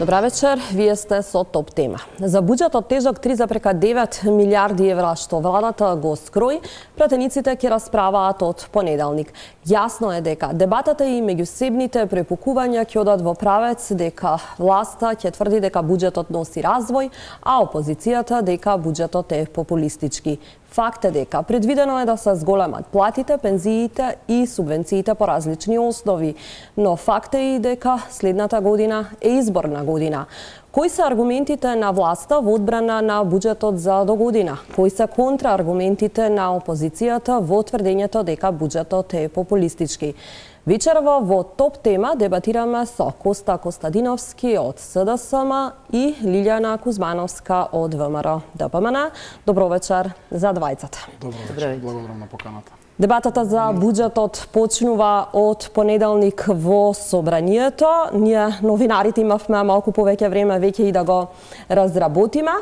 Добра вечер, вие сте со топ тема. За буџетот тежок 3,9 милиарди евра што владата го скрои, пратениците ќе расправаат од понеделник. Јасно е дека дебатата и меѓусебните препукувања ќе одат во правец дека власта ќе тврди дека буџетот носи развој, а опозицијата дека буџетот е популистички. Факт е дека предвидено е да се зголемат платите, пензиите и субвенциите по различни основи, но факт е и дека следната година е изборна година. Кои се аргументите на власта во одбрана на буџетот за до година? Кои се контрааргументите на опозицијата во тврдењето дека буџетот е популистички? Вечерва во топ тема дебатираме со Коста Костадиновски од СДСМ и Лилјана Кузмановска од ВМРО ДПМН. Добро вечер за двајцата. Добро вечер, благодарам на поканата. Дебатата за буџетот почнува од понеделник во собранието. Ние новинарите имавме малку повеќе време веќе и да го разработиме.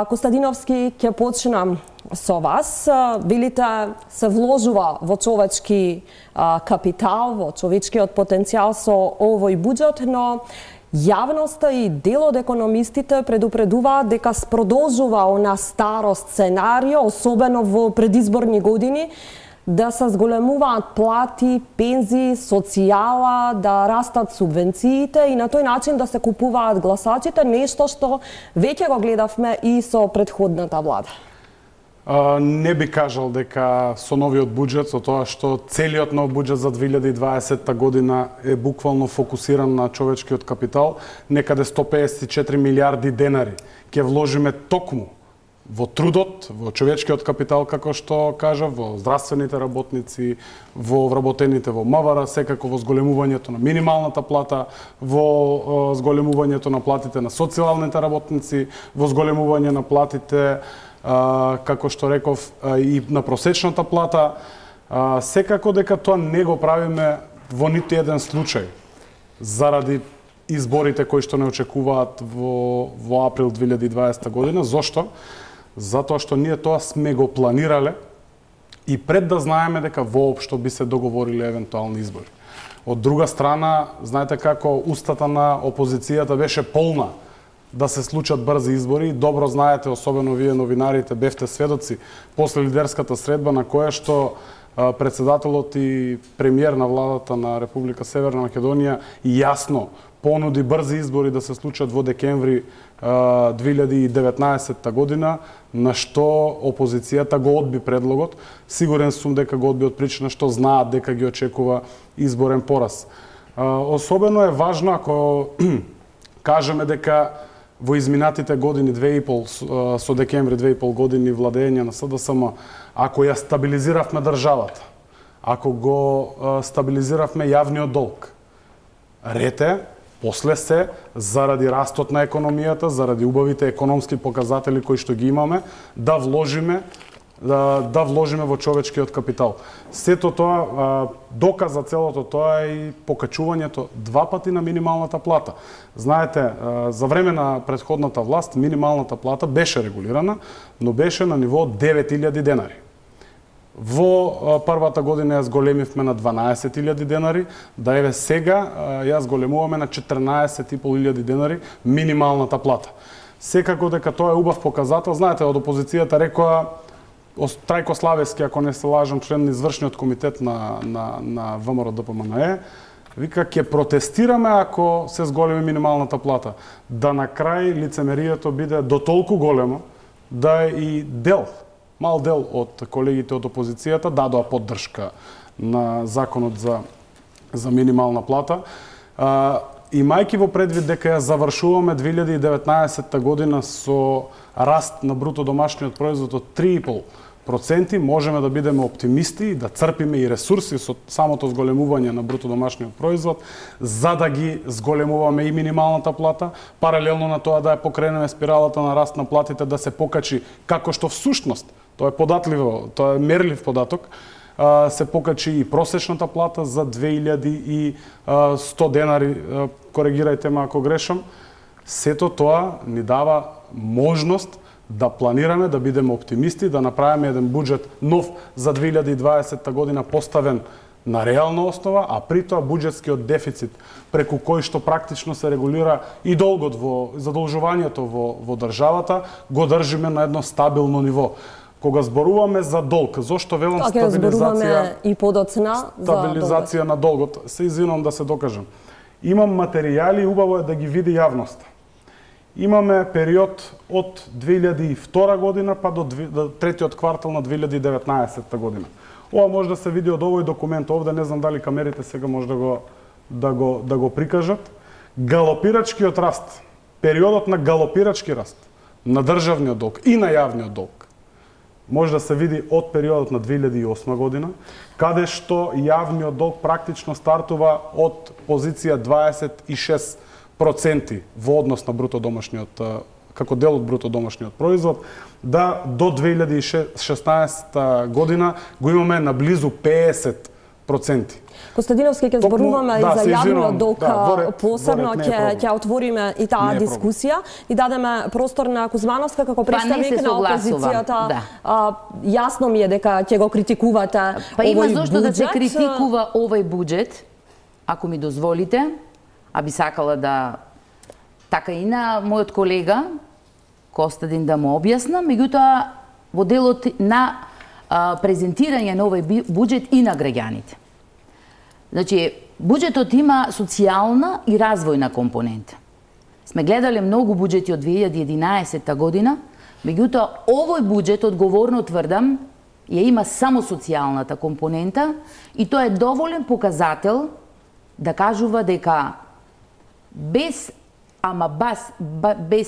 Костадиновски, ќе почнам со вас. Велите се вложува во човечки капитал, во човечкиот потенцијал со овој буџет, но јавноста и дел од економистите предупредуваат дека продолжува она старо сценарио, особено во предизборни години, да се зголемуваат плати, пензии, социјала, да растат субвенциите и на тој начин да се купуваат гласачите, нешто што веќе го гледавме и со претходната влада. Не би кажал дека со новиот буџет, со тоа што целиот нов буџет за 2020 година е буквално фокусиран на човечкиот капитал, некаде 154 милиарди денари ќе вложиме токму во трудот, во човечкиот капитал, како што кажав, во здравствените работници, во вработените во МВР, секако во зголемувањето на минималната плата, во зголемувањето на платите на социјалните работници, во зголемување на платите, како што реков, и на просечната плата. Секако дека тоа не го правиме во ниту еден случај, заради изборите кои што не очекуваат во април 2020 година. Зошто? Затоа што ние тоа сме го планирале и пред да знаеме дека воопшто би се договориле евентуални избори. Од друга страна, знаете како устата на опозицијата беше полна да се случат брзи избори. Добро знаете, особено вие новинарите, бевте сведоци после лидерската средба на која што председателот и премиер на владата на Република Северна Македонија јасно понуди брзи избори да се случат во декември 2019 година, на што опозицијата го одби предлогот. Сигурен сум дека го одби од причина што знаат дека ги очекува изборен пораз. Особено е важно ако кажеме дека во изминатите години 2,5 со декември 2,5 години владење на СДСМ, ако ја стабилизиравме државата, ако го стабилизиравме јавниот долг, рете после се, заради растот на економијата, заради убавите економски показатели кои што ги имаме, да вложиме во човечкиот капитал. Сето тоа, доказ за целото тоа е и покачувањето 2 пати на минималната плата. Знаете, за време на претходната власт минималната плата беше регулирана, но беше на ниво 9.000 денари. Во првата година ја зголемивме на 12.000 денари, да еве сега ја зголемуваме на 14.500 денари минималната плата. Секако дека тоа е убав показател. Знаете, од опозицијата рекоа, Трајко Славевски, ако не се лажам, член на извршниот комитет на ВМРО ДПМН, вика, ќе протестираме ако се зголеми минималната плата. Да на крај лицемерието биде до толку големо да и мал дел од колегите од опозицијата дадоа поддршка на законот за минимална плата. Имајќи во предвид дека ја завршуваме 2019 година со раст на бруто домашниот производ од 3,5%, можеме да бидеме оптимисти и да црпиме и ресурси со самото зголемување на бруто домашниот производ, за да ги зголемуваме и минималната плата, паралелно на тоа да ја покренеме спиралата на раст на платите, да се покачи како што всушност, тоа е податливо, тоа е мерлив податок, се покачи и просечната плата за 2100 денари, коригирајте ме ако грешам. Сето тоа ни дава можност да планираме, да бидеме оптимисти, да направиме еден буџет нов за 2020 година поставен на реална основа, а при тоа буџетскиот дефицит преку кој што практично се регулира и долгот во задолжувањето во државата, го држиме на едно стабилно ниво. Кога зборуваме за долг, зошто велам стабилизација и подоцна стабилизација на долгот, се извинувам да се докажам. Имам материјали, убаво е да ги види јавноста. Имаме период од 2002 година па до третиот квартал на 2019 година. Ова може да се види од овој документ овде, не знам дали камерите сега може да го прикажат. Галопирачкиот раст, периодот на галопирачки раст на државниот долг и на јавниот долг може да се види од периодот на 2008 година, каде што јавниот долг практично стартува од позиција 26% во однос на бруто домашниот, како дел од бруто домашниот производ, да до 2016 година го имаме на близу 50%. Костадиновски, ќе зборуваме и за јавниот долг посебно, ќе отвориме и таа дискусија и дадеме простор на Кузмановска како представник на опозицијата. Јасно ми е дека ќе го критикувате овој буџет. Па има зошто да се критикува овој буџет, ако ми дозволите, а би сакала да така и на мојот колега Костадин да му објаснам, меѓутоа во делот на презентирање на овој буџет и на граѓаните. Значи, буџетот има социјална и развојна компонента. Сме гледале многу буџети од 2011 година, меѓутоа овој буџет, одговорно тврдам, ја има само социјалната компонента и тоа е доволен показател да кажува дека без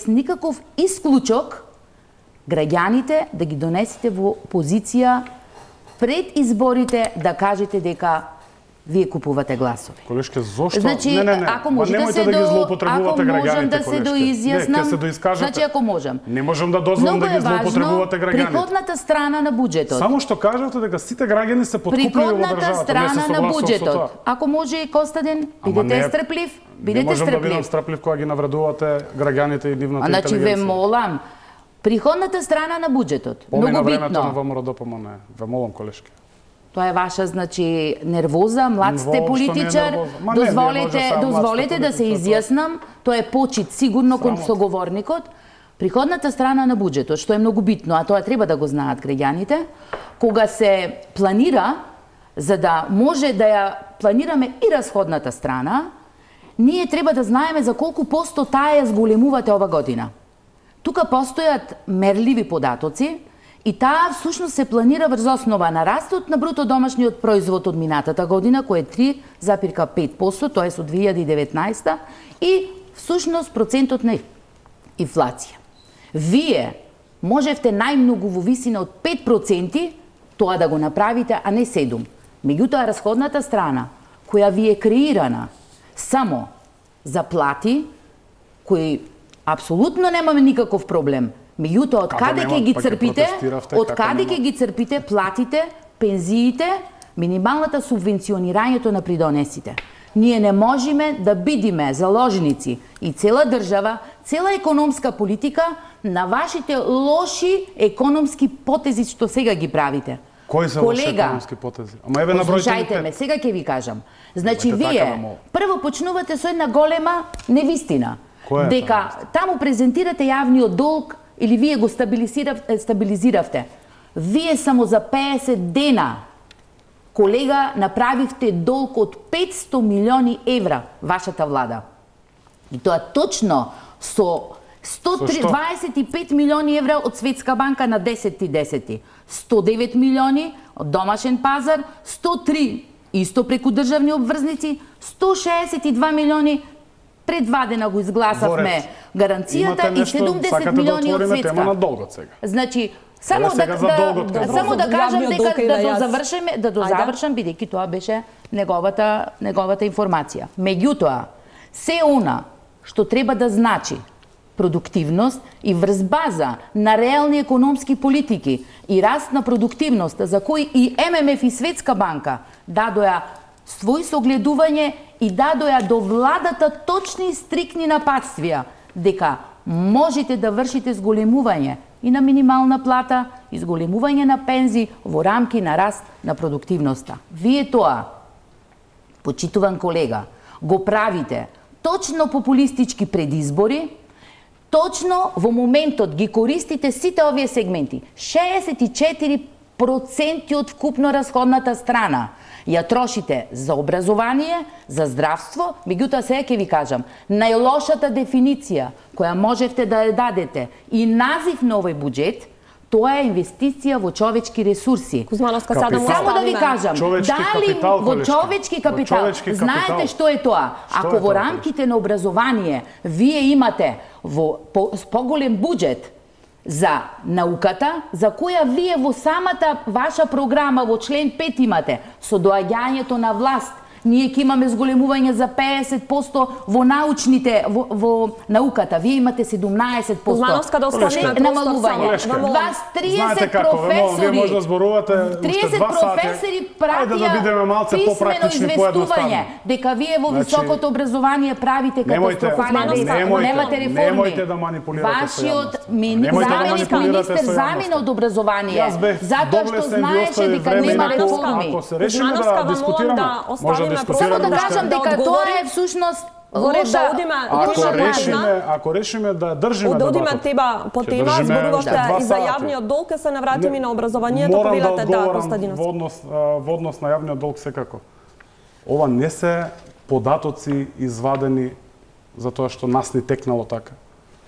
никаков исклучок граѓаните да ги донесете во позиција пред изборите да кажете дека вие купувате гласови. Колешке, зошто? Значи, ако може да се злоупотребувате граѓаните, да се доизјаснам, значи ако можам. Не можам да дозволам да ги злоупотребувате граѓаните. Приходната страна на буџетот. Само што кажете дека сите граѓани се подкупливи во државата. Приходната страна на буџетот. Ако може и Костадин, бидете стрплив, бидете стрплив. Не можам да бидам стрплив. стрплив кога ги навредувате граѓаните и нивната интелигенција. Значи ве молам, приходната страна на буџетот. Многу времето на битно. ВМРО ДПМН. Ве молам, колешки. Тоа е ваша, значи, нервоза, млад сте политичар. Дозволете да се изјаснам. Тоа е почит сигурно кон соговорникот. Приходната страна на буџетот, што е многу битно, а тоа треба да го знаат граѓаните, кога се планира, за да може да ја планираме и расходната страна, ние треба да знаеме за колку посто таа ја зголемувате ова година. Тука постојат мерливи податоци, и таа всушност се планира врз основа на растот на бруто домашниот производ од минатата година, кој е 3,5%, тоа е со 2019, и всушност процентот на инфлација. Вие можевте најмногу во висина од 5% тоа да го направите, а не 7%. Меѓутоа, расходната страна, која ви е креирана само за плати, кои апсолутно немаме никаков проблем, меѓутоа, од каде ќе ги црпите? Од каде ќе ги црпите платите, пензиите, минималната субвенционирањето на придонесите? Ние не можеме да бидиме заложници и цела држава, цела економска политика на вашите лоши економски потези што сега ги правите. Кои се лоши економски потези? Ама еве набројте ме, сега ќе ви кажам. Значи вие прво почнувате со една голема невистина. Дека таму презентирате јавниот долг или вие го стабилизиравте. Вие само за 50 дена, колега, направивте долг од 500 милиони евра, вашата влада. И тоа точно со 125 милиони евра од Светска банка на 10.10. 109 милиони од домашен пазар, 103 исто преку државни обврзници, 162 милиони пред 2 дена го изгласавме гаранцијата и 70 милиони од Светска. Тема на долгот сега. Значи, само да кажам дека да дозавршам, бидејќи тоа беше неговата информација. Меѓутоа, се она што треба да значи продуктивност и врз база на реални економски политики и раст на продуктивност, за кој и ММФ и Светска банка дадоа свој согледување и дадоа до владата точни и стрикни напатствија дека можете да вршите зголемување и на минимална плата и зголемување на пензии во рамки на раст на продуктивноста. Вие тоа почитуван колега, го правите точно популистички предизбори, точно во моментот ги користите сите овие сегменти. 64% од вкупно расходната страна ја трошите за образование, за здравство, меѓутоа сега ќе ви кажам, најлошата дефиниција која можевте да ја дадете и назив на овој буџет, тоа е инвестиција во човечки ресурси. Кузмановска, сега да му Само да ви кажам, дали во човечки капитал, знаете што е тоа? Ако во рамките на образование вие имате во поголем буџет за науката, за која вие во самата ваша програма во член 5 имате, со доаѓањето на власт, ние ќе имаме зголемување за 50% во научните, во науката. Вие имате 17%. Кузмановска, да останеме намалување. Вас 30 професори, вие може да зборувате 30 професори пратија писмено известување дека вие во високото образование правите катастрофален немате реформи. Немојте да манипулирате. Вашиот министер замина од образование, затоа што знаеше дека нема реформи. Ако се решиме да дискутираме, може да Само да кажам дека тоа е всушност лоша. Ако решиме да држиме да одиме теба по тема, зборувавте и за јавниот долг, се навратиме на образованието, повелате да, Костадинов. Во однос на јавниот долг секако. Ова не се податоци извадени затоа што нас ни текнало така.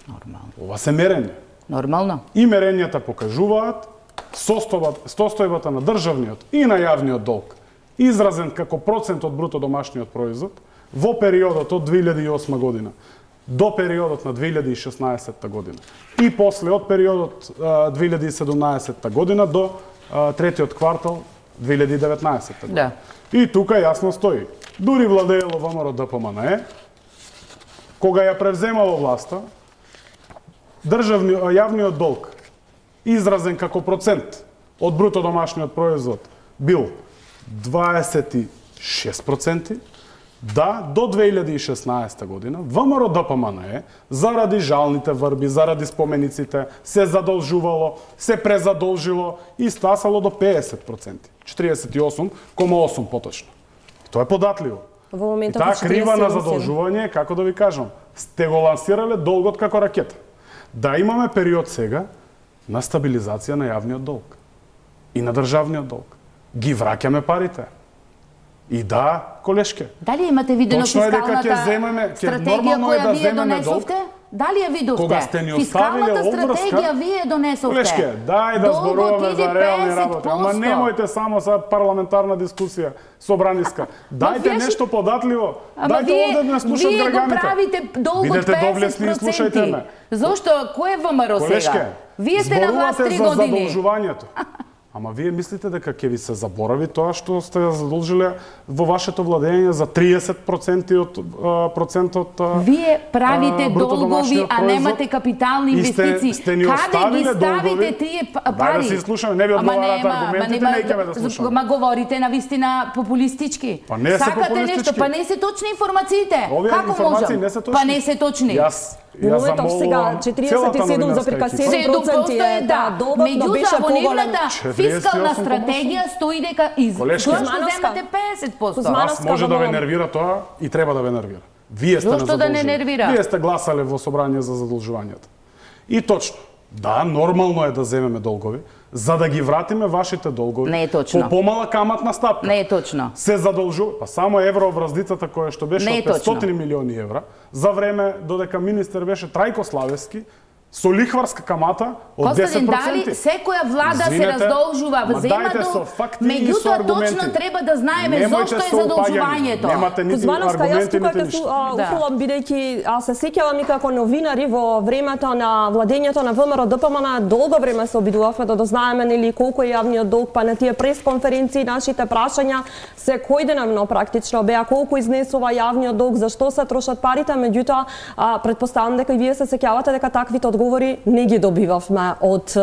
Нормално. Ова се мерење. Нормално. И мерењата покажуваат состојбата на државниот и на јавниот долг, изразен како процент од бруто домашниот производ во периодот од 2008 година до периодот на 2016 година и после од периодот 2017 година до третиот квартал 2019 година. Да. И тука јасно стои. Дури владеело ВМРО ДПМНЕ, кога ја превземало власта, јавниот долг изразен како процент од бруто домашниот производ бил 26%, да, до 2016 година, ВМРО ДПМНЕ, заради жалните врби, заради спомениците, се задолжувало, се презадолжило и стасало до 50%. 48,8 поточно. Тоа е податливо. Во моментот таа крива на задолжување, како да ви кажам, сте го лансирале долгот како ракета. Да имаме период сега на стабилизација на јавниот долг и на државниот долг. Ги враќаме парите. И да, колешке. Дали имате видено фискалната стратегија која вие донесовте? Дали ја видовте? Кога сте ни оставиле стратегија вие донесовте. Колешке, дај да зборуваме за реални работи. Ама немојте само за парламентарна дискусија, собраниска. Дајте нешто податливо. Дајте овде да не слушат граѓаните. Вие го правите долг од 50%. Зошто? Кој е ВМРО сега? Вие сте на власт 3 години. За задолжувањето. Ама вие мислите дека ќе ви се заборави тоа што сте задолжиле во вашето владење за 30% од процентот Вие правите долгови, а немате капитални инвестиции. Каде ги ставите тие пари? Да си слушаме, не ви одговарате аргументите, не ќе да слушаме. Ма говорите на вистина популистички. Па не се популистички. Па не се точни информациите. Како можам? Па не се точни. Моментов сега 47,7% е да долгот, но беше поголем. Фискална стратегија стои дека изгледно земате 50%. Вас може да ве нервира тоа и треба да ве нервира. Вие сте Зошто да не нервира? Вие сте гласале во собрање за задолжувањата. И точно. Да, нормално е да земеме долгови, за да ги вратиме вашите долгови. Не е точно. По помала каматна стапка. Не е точно. Се задолжува, па само евровраздицата која што беше од 500 милиони евра, за време додека министер беше Трајко Славевски, со лихварска камата од 10%. Костадин, дали секоја влада се раздолжува, зема долг, меѓутоа точно треба да знаеме зошто е задолжувањето. Немате нити аргументи, нити ништо. Уфулам, бидејќи се сеќавам и како новинари во времето на владењето на ВМРО ДПМН, долго време се обидувавме да дознаеме нели колку е јавниот долг, па на тие пресконференции нашите прашања секојдневно практично беа колку изнесува јавниот долг, зашто се трошат парите, меѓутоа претпоставам дека и вие се сеќавате дека таквите одговори не ги добивавме од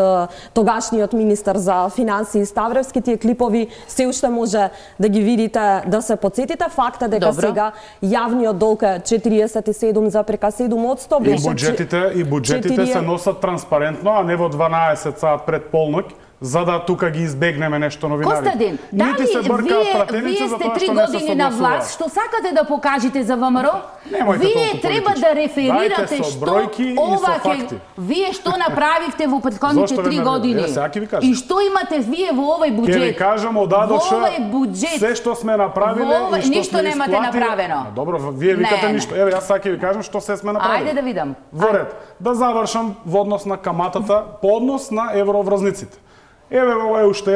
тогашниот министер за финансии Ставревски. Тие клипови се уште може да ги видите, да се подсетите. Факт е дека сега јавниот долг е 47,7%. И буџетите се носат транспарентно, а не во 12 саат пред полноќ, за да тука ги избегнеме нешто новинарите. Костадин, Нити се бркаат пратеници за тоа што не се согласуваат. Вие сте 3 години на власт, што сакате да покажете за ВМРО? Вие треба да реферирате што ова вие што направивте во претходните 3 години. И што имате вие во овој буџет? Ќе ви кажам одадоша се што сме направиле и што ништо немате направено. Добро, вие викате ништо. Еве јас сака ви кажам што се сме направиле. Ајде да видам. Во ред, да завршам во однос на каматата, по однос на евроврзниците. Еве ова е уште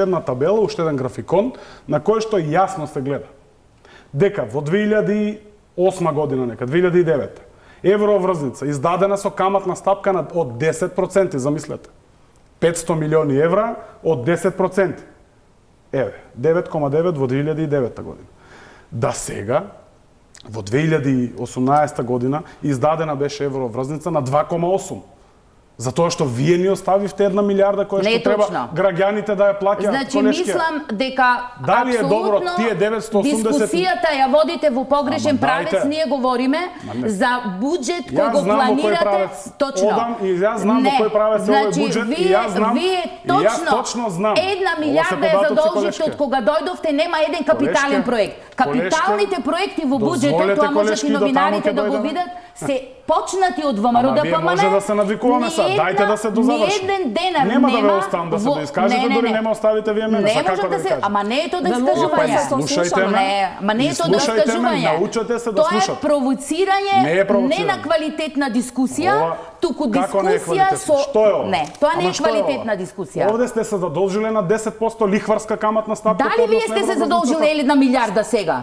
една табела, уште еден графикон на кој што јасно се гледа дека во 2008 година, нека 2009, евроврзница издадена со каматна стапка од 10%, замислете. 500 милиони евра од 10%. Еве, 9,9 во 2009 година. Да сега, во 2018 година, издадена беше евроврзница на 2,8. Затоа што вие ни оставивте 1 милиарда која што треба граѓаните да ја плаќаат. Значи мислам дека дали е добро тие 980 дискусијата ја водите во погрешен правец, ние говориме за буџет кој го планирате точно. Одам и јас знам во кој правец е овој буџет и јас знам. Вие точно знам. 1 милиарда ја задолжите од кога дојдовте, нема еден капитален проект. Капиталните проекти во буџетот, тоа можат и новинарите да го видат, се почнати од ВМРО ДПМН. Може да се навикуваме са, дајте да се дозаврши. Нема да ве оставам да се доискажете, дури нема оставите вие мене, са како да се... Ама не е тоа доискажување. Слушајте ме, ама не е тоа доискажување. Научете се да слушате. Тоа е провоцирање, не на квалитетна дискусија, туку дискусија со... Не, тоа не е квалитетна дискусија. Овде сте се задолжиле на 10% лихварска каматна стапка. Дали вие сте се задолжиле 1 милиарда сега?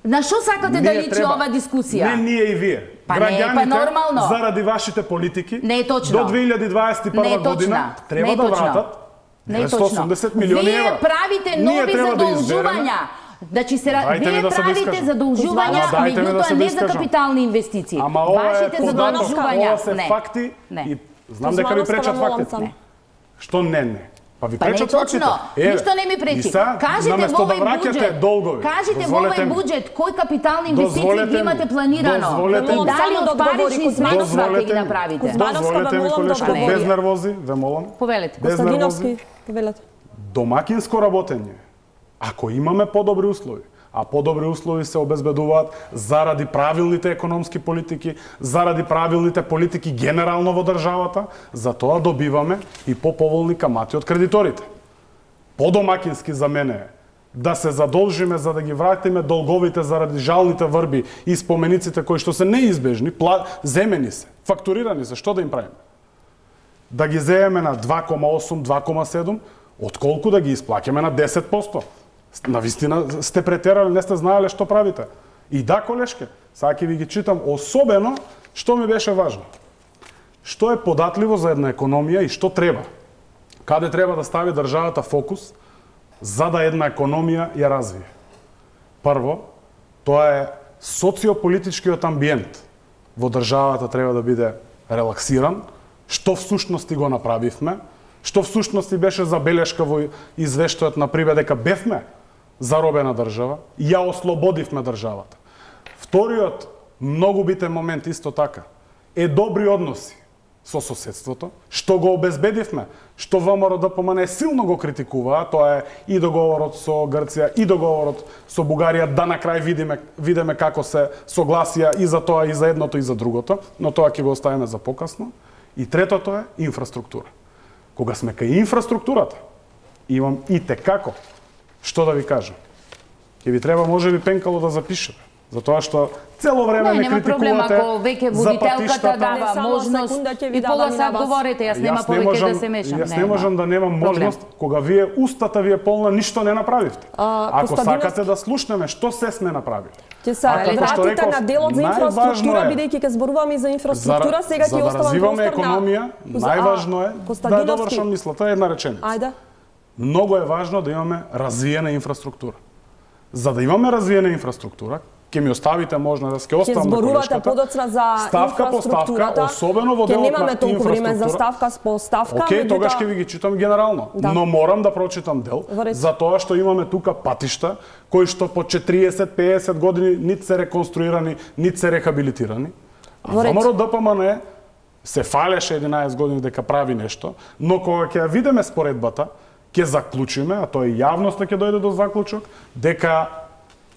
На што сакате да личи ова дискусија? Не ние и вие. Граѓаните, заради вашите политики, не е точно. До 2021 година треба да вратат 180 милиони евра. Вие правите нови задолжувања. Значи вие правите задолжувања, меѓутоа не за капитални инвестиции. Вашите задолжувања, ова се факти и знам дека ви пречат фактите. Што не? Па ви пречат фактите. Ништо не ми пречи. Кажете во овој буџет кој капитални инвестиции ги имате планирано. Дали од парични средства ќе ги направите? Дозволете ми, колешко, без нервози, ве молам. Повелете. Без нервози. Домакинско работење. Ако имаме подобри услови, а подобри услови се обезбедуваат заради правилните економски политики, заради правилните политики генерално во државата, затоа добиваме и поповолни камати од кредиторите. Подомакински за мене е да се задолжиме за да ги вратиме долговите заради жалните врби и спомениците кои што се неизбежни, земени се, фактурирани се, што да им правиме? Да ги земеме на 2,8, 2,7, отколку да ги исплаќаме на 10%. Навистина сте претерали, не сте знаеле што правите. И да, колешке, сега ќе ви ги читам, особено што ми беше важно. Што е податливо за една економија и што треба? Каде треба да стави државата фокус за да една економија ја развие? Прво, тоа е социополитичкиот амбиент во државата треба да биде релаксиран, што всушности го направивме, што всушности беше забелешка во извештајот на ПРИБЕ дека бевме заробена држава, ја ослободивме државата. Вториот многу битен момент исто така е добри односи со соседството, што го обезбедивме, што ВМРО ДПМН силно го критикуваа, тоа е и договорот со Грција и договорот со Бугарија, да на крај видиме како се согласија и за тоа и за едното и за другото, но тоа ќе го оставиме за покасно. И третото е инфраструктура. Кога сме кај инфраструктурата, имам и текако што да ви кажам. Ќе ви треба можеби пенкало да запишете, затоа што цело време не критикувате за патиштата. Дава можност и пола сат говорите, јас нема повеќе да се мешам. Јас не можам да немам можност кога вие устата ви е полна, ништо не направивте. Ако сакате да слушнеме што се сме направили. Ќе се вратите на делот за инфраструктура, бидејќи ќе зборуваме и за инфраструктура, сега ќе оставам простор на економија. Најважно е да довршам мислата, една реченица. Ајде. Многу е важно да имаме развиена инфраструктура. За да имаме развиена инфраструктура, ќе ми оставите можно да ќе оставам на колешката. Ќе зборувате подоцна за ставка по ставка, особено во делот на инфраструктура. Ќе немаме толку време за ставка по ставка. Океј, тогаш ќе ви ги читам генерално. Но морам да прочитам дел, затоа што имаме тука патишта кои што по 40-50 години нит се реконструирани, нит се рехабилитирани. А ВМРО ДПМН се фалеше 11 години дека прави нешто, но кога ќе ја видиме споредбата, ќе заклучиме, а тоа и јавноста ќе дојде до заклучок, дека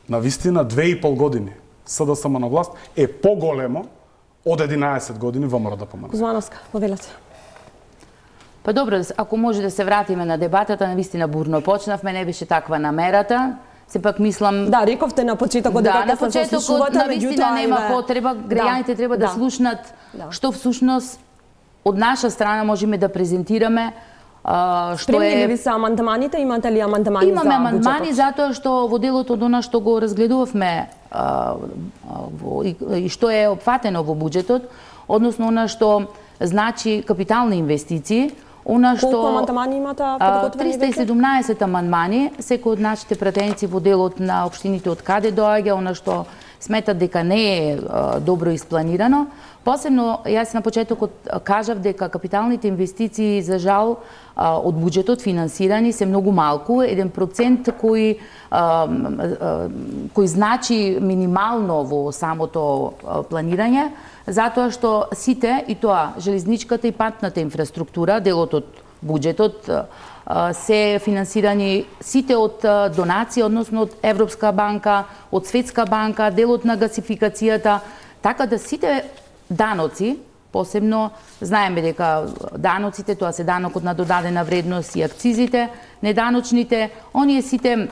на вистина 2,5 години СДСМ на власт е поголемо од 11 години ВМРО да помага. Кузмановска, повелете. Па добро, ако може да се вратиме на дебатата, навистина бурно почнавме, не беше таква намерата. Сепак мислам... Да, рековте на почетокот дека на почетокот навистина нема потреба, граѓаните треба да слушнат што всушност од наша страна можеме да презентираме. Спремни ли ви се амандманите? Имате ли амандмани за буџетот? Имаме амандмани затоа што во делот од она што го разгледувавме и што е опфатено во буџетот, односно она што значи капитални инвестиции, Колку амандмани имате подготвени веќе? 317 амандмани, секој од нашите пратеници во делот на општините од каде доаѓа, она што сметат дека не е добро испланирано. Посебно, јас на почетокот кажав дека капиталните инвестиции, за жал, од буџетот финансирани се многу малку, 1% кој значи минимално во самото планирање, затоа што сите, и тоа железничката и патната инфраструктура, делот од буџетот, се финансирани сите од донации, односно од Европска банка, од Светска банка, делот на гасификацијата, така да сите даноци, посебно знаеме дека даноците, тоа се данокот на додадена вредност и акцизите, неданочните, оние сите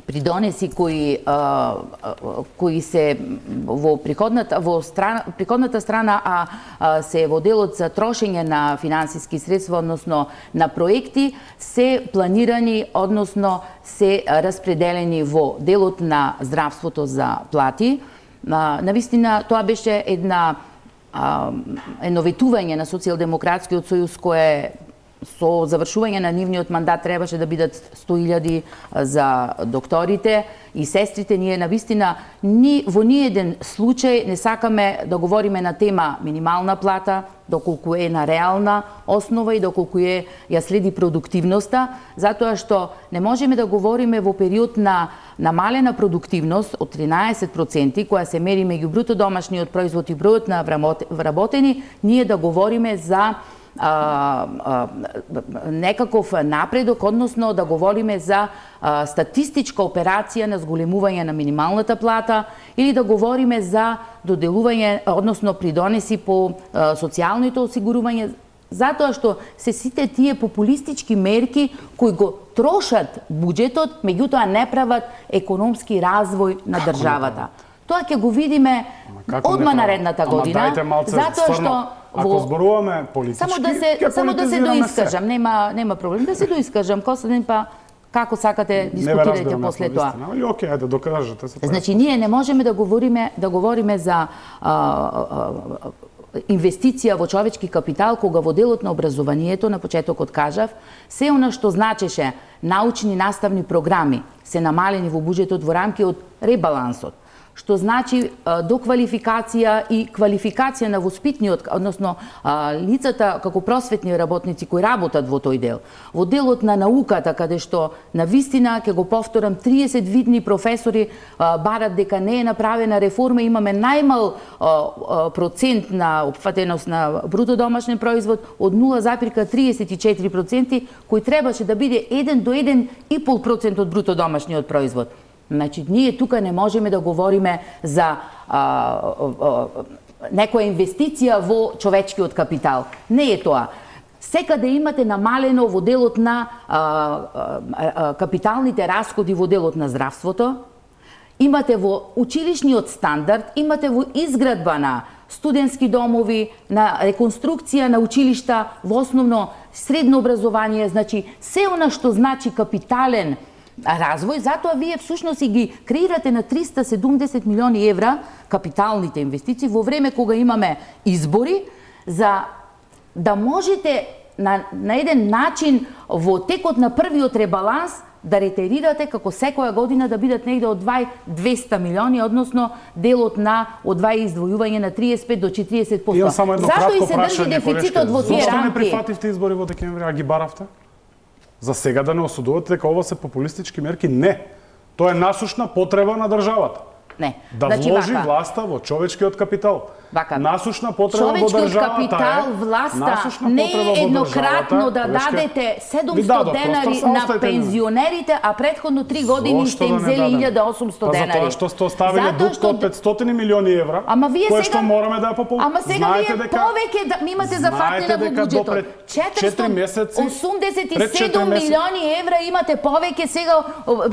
придонеси кои се во приходната страна, а се во делот за трошење на финансиски средства, односно на проекти, се планирани, односно се распределени во делот на здравството за плати. Навистина, тоа беше едно ветување на Социјалдемократскиот сојуз кое со завршување на нивниот мандат требаше да бидат 100.000 за докторите и сестрите. Ние навистина во ниеден случај не сакаме да говориме на тема минимална плата, доколку е на реална основа и доколку ја следи продуктивноста, затоа што не можеме да говориме во период на намалена продуктивност од 13%, која се мери меѓу бруто домашниот производ и бројот на вработени, ние да говориме за некаков напредок, односно да говориме за статистичка операција на зголемување на минималната плата или да говориме за доделување, односно придонеси по социјалното осигурување, затоа што се сите тие популистички мерки кои го трошат буџетот, меѓутоа не прават економски развој на државата. Тоа ќе го видиме одма наредната година, затоа што ако зборуваме политички, само да се доискажам, нема проблем да се доискажам, Костадин, па како сакате дискутирајте после тоа. Али окей, ајде докажете се. Значи ние не можеме да говориме за инвестиција во човечки капитал кога во делот на образованието, на почетокот кажав, се она што значеше научни наставни програми се намалени во буџетот во рамки од ребалансот, што значи доквалификација и квалификација на воспитниот, односно лицата како просветни работници кои работат во тој дел. Во делот на науката, каде што навистина, ќе го повторам, 30 видни професори барат дека не е направена реформа, имаме најмал процент на опфатеност на бруто домашен производ од 0,34%, кој требаше да биде 1 до 1,5% од бруто домашниот производ. Значи, ние тука не можеме да говориме за некоја инвестиција во човечкиот капитал. Не е тоа. Секаде имате намалено во делот на капиталните расходи во делот на здравството, имате во училишниот стандард, имате во изградба на студентски домови, на реконструкција на училишта, во основно средно образование, значи се она што значи капитален развој, затоа вие всушност и ги креирате на 370 милиони евра капиталните инвестиции во време кога имаме избори, за да можете на еден начин во текот на првиот ребаланс да ретерирате како секоја година да бидат негде од 200 милиони, односно делот на издвојување на 35 до 40%. Зато и се држи дефицитот во тие рамки. Зошто не прифативте избори во декември, а ги баравте? За сега да не осудувате дека ова се популистички мерки? Не. Тоа е насушна потреба на државата. Не. Да вложи власта во човечкиот капитал. Вака. Насушна потреба во државата капитал, власта не е еднократно да дадете 700 денари на пензионерите, а претходно 3 години сте им взели 1800 денари. Затоа што сте оставиле дуг од 500 милиони евра, кој што мораме да ја пополниме. Ама сега вие повеќе имате зафатена во буџетот. 487 милиони евра имате повеќе сега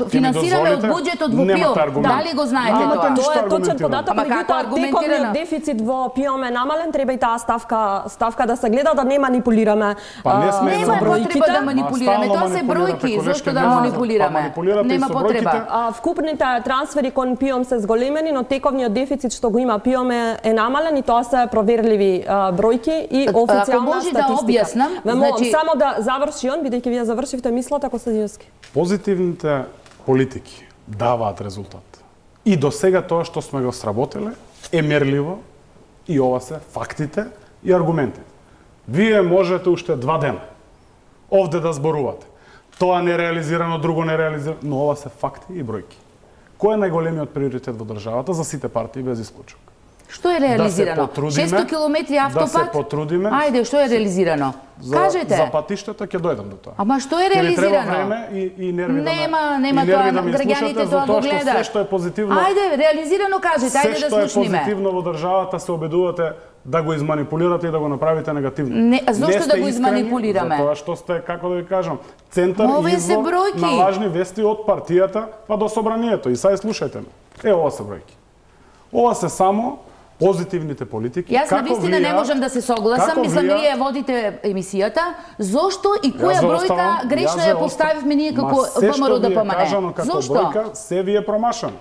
финансираме од буџетот во ПИО. Дали го знаете тоа? Тоа е точен податок, меѓутоа тековниот дефицит во ПИО е намален, треба и таа ставка да се гледа да не манипулираме. Нема потреба да манипулираме, тоа се бројки, зошто да манипулираме? Нема потреба. Вкупните трансфери кон ПИО се зголемени, но тековниот дефицит што го има ПИО е намален и тоа се проверливи бројки и официјална статистика. Ако може да објаснам, значи само да заврши он, бидејќи вие завршивте мислата, Костадиновски. Позитивните политики даваат резултат. И до сега тоа што сме го сработиле е мерливо и ова се фактите и аргументите. Вие можете уште 2 дена овде да зборувате. Тоа не реализирано, друго не реализирано, но ова се факти и бројки. Кој е најголемиот приоритет во државата за сите партии без исклучок? Што е реализирано? 600 километри автопат? Да се потрудиме. Ајде, што е реализирано? Кажете. За патиштата ќе дојдам до тоа. Ама што е реализирано? Ќе треба време и нерви нема тоа, граѓаните тоа го гледаат. Се што е позитивно. Ајде, реализирано кажете, ајде да слушниме. Се што е позитивно во државата се обидувате да го изманипулирате и да го направите негативно. Не, зошто да го изманипулираме? Затоа што сте, како да ви кажам, центар извор на лажни вести од партијата па до собранието. И сега слушајте ме. Ова се бројки. Ова се само позитивните политики. Јас навистина не можам да се согласам, мислам вие водите емисијата, зошто и која бројка грешно ја поставивме ние како ВМРО ДПМН? Зошто? Бројка, се ви е промашано.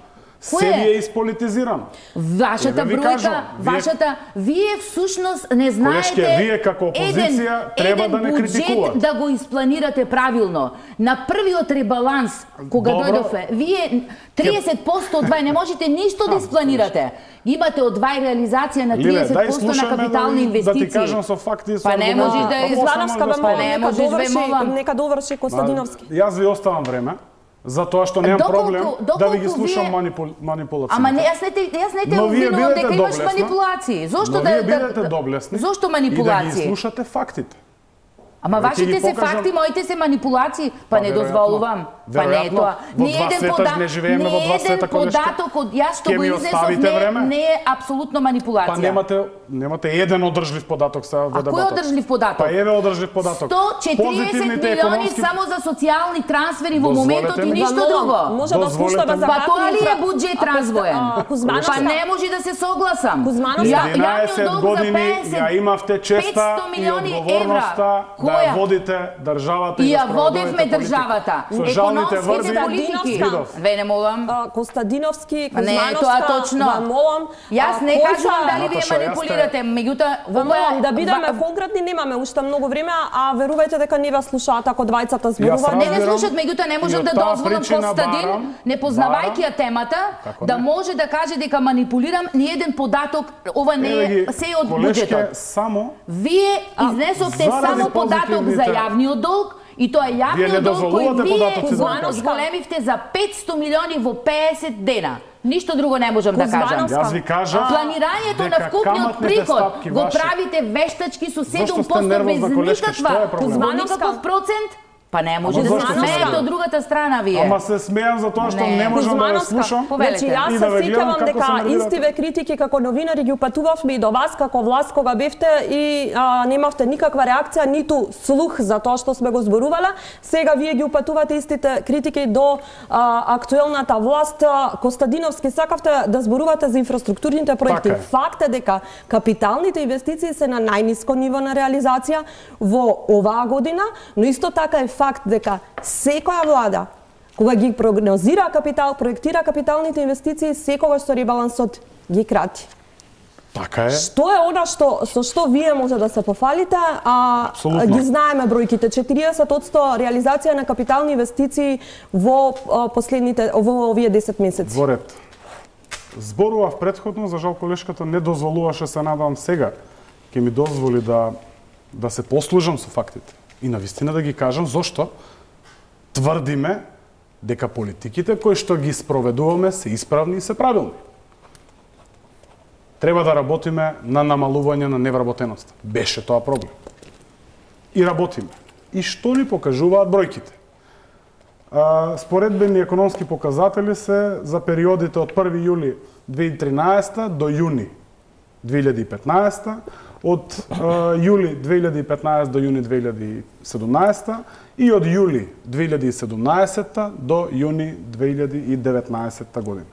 Се ви е исполитизирано. Вашата бројка, вие всушност не знаете вие како опозиција треба да не критикувате. Да го испланирате правилно. На првиот ребаланс, кога дојдове, вие 30% од двај не можете ништо да испланирате. Имате од двај реализација на 30% на капитални инвестиции. Да ти кажам со факти и со аргументи. Па не можеш да нека доврши Костадиновски. Јас ви оставам време. Затоа што немам проблем да ви ги слушам манипулацијата. Ама јас не те обвинувам дека имаш манипулации. Зошто да вие бидете доблесни? Зошто манипулации? И да ги слушате фактите. Ама вашите се факти, моите се манипулации, па не дозволувам. Па не е тоа. Не еден податок од јас што го изнесов не е апсолутно манипулација. Па немате еден одржлив податок сега во дебатот. А кој одржлив податок? Па еве одржлив податок. 140 милиони само за социјални трансфери во моментот и ништо друго. Може да слушаме за па тоа ли е буџет развоен? Па не може да се согласам. 11 години ја имавте честа и одговорноста да ја водите државата и ја водевме државата. Економските политики. Ве молам. Костадиновски, Кузмановска, молам. Јас не кажувам дали вие манипулирате, меѓутоа молам да бидеме конкретни, немаме уште многу време, а верувајте дека не ве слушаат ако двајцата зборуваат. Не слушаат, меѓутоа не можам да дозволам Костадин, не познавајќи ја темата, да може да каже дека манипулирам ни еден податок, ова не е се од буџетот. Вие изнесовте само податок за јавниот долг, и тоа е јавниот долг кој вие зголемивте за 500 милиони во 50 дена. Ништо друго не можам да кажам. Јас ви кажам, планирањето на вкупниот приход го правите вештачки со 7% без никаков процент. Па не може да се смеете од другата страна вие. Ама се смеам за тоа што не можам да ве слушам. Значи јас се сеќавам дека истиве критики како новинари ги упатувавме и до вас како власт кога бевте и немавте никаква реакција, ниту слух за тоа што сме го зборувале. Сега вие ги упатувате истите критики до актуелната власт. Костадиновски, сакавте да зборувате за инфраструктурните проекти. Факт е дека капиталните инвестиции се на најниско ниво на реализација во оваа година, но исто така е факт дека секоја влада кога ги прогнозира капитал, проектира капиталните инвестиции, секогаш со ребалансот ги крати. Така е. Што е она со што вие може да се пофалите, ги знаеме бројките, 40% реализација на капитални инвестиции во овие 10 месеци. Во ред. Зборував претходно, за жал колешката не дозволуваше, се надавам сега ќе ми дозволи да се послужам со фактите. И навистина да ги кажам зошто тврдиме дека политиките кои што ги спроведуваме се исправни и се правилни. треба да работиме на намалување на невработеноста. Беше тоа проблем. И работиме. И што ни покажуваат бројките? Споредбени економски показатели се за периодите од 1 јули 2013 до јуни 2015, од јули 2015 до јуни 2017 и од јули 2017 до јуни 2019 година.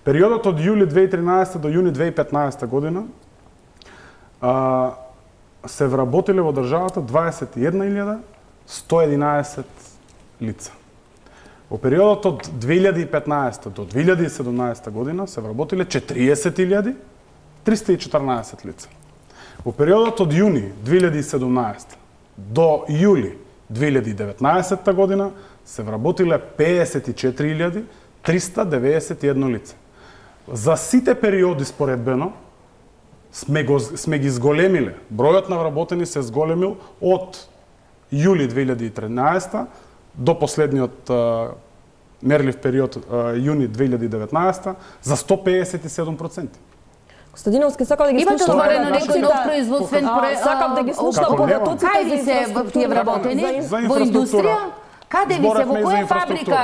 Периодот од јули 2013 до јуни 2015 година се вработиле во државата 21.111 лица. Во периодот од 2015 до 2017 година се вработиле 40.314 лица. Во периодот од јуни 2017 до јули 2019 година се вработиле 54.391 лица. За сите периоди споредбено сме ги зголемиле. Бројот на вработени се зголемил од јули 2013 до последниот мерлив период јуни 2019 за 157%. Костадиновски, сакав да ги слушам. Имате отворено некој нов производствен проект? Сакав да ги слушам податоците Кај ви се тие вработени? Во индустрија? Каде ви се, во која фабрика,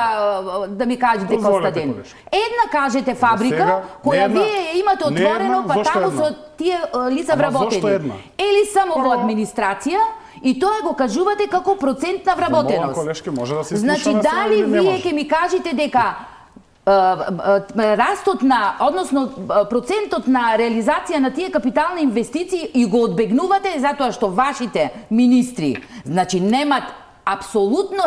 да ми кажете, Костадин? Една кажете фабрика, која вие имате отворено, па таму со тие лица вработени. Или само во администрација, и тоа го кажувате како процент на вработеност. Колешки, може да се значи, дали вие ќе ми кажете дека растот на, односно процентот на реализација на тие капитални инвестиции и го одбегнувате затоа што вашите министри, значи немат апсолутно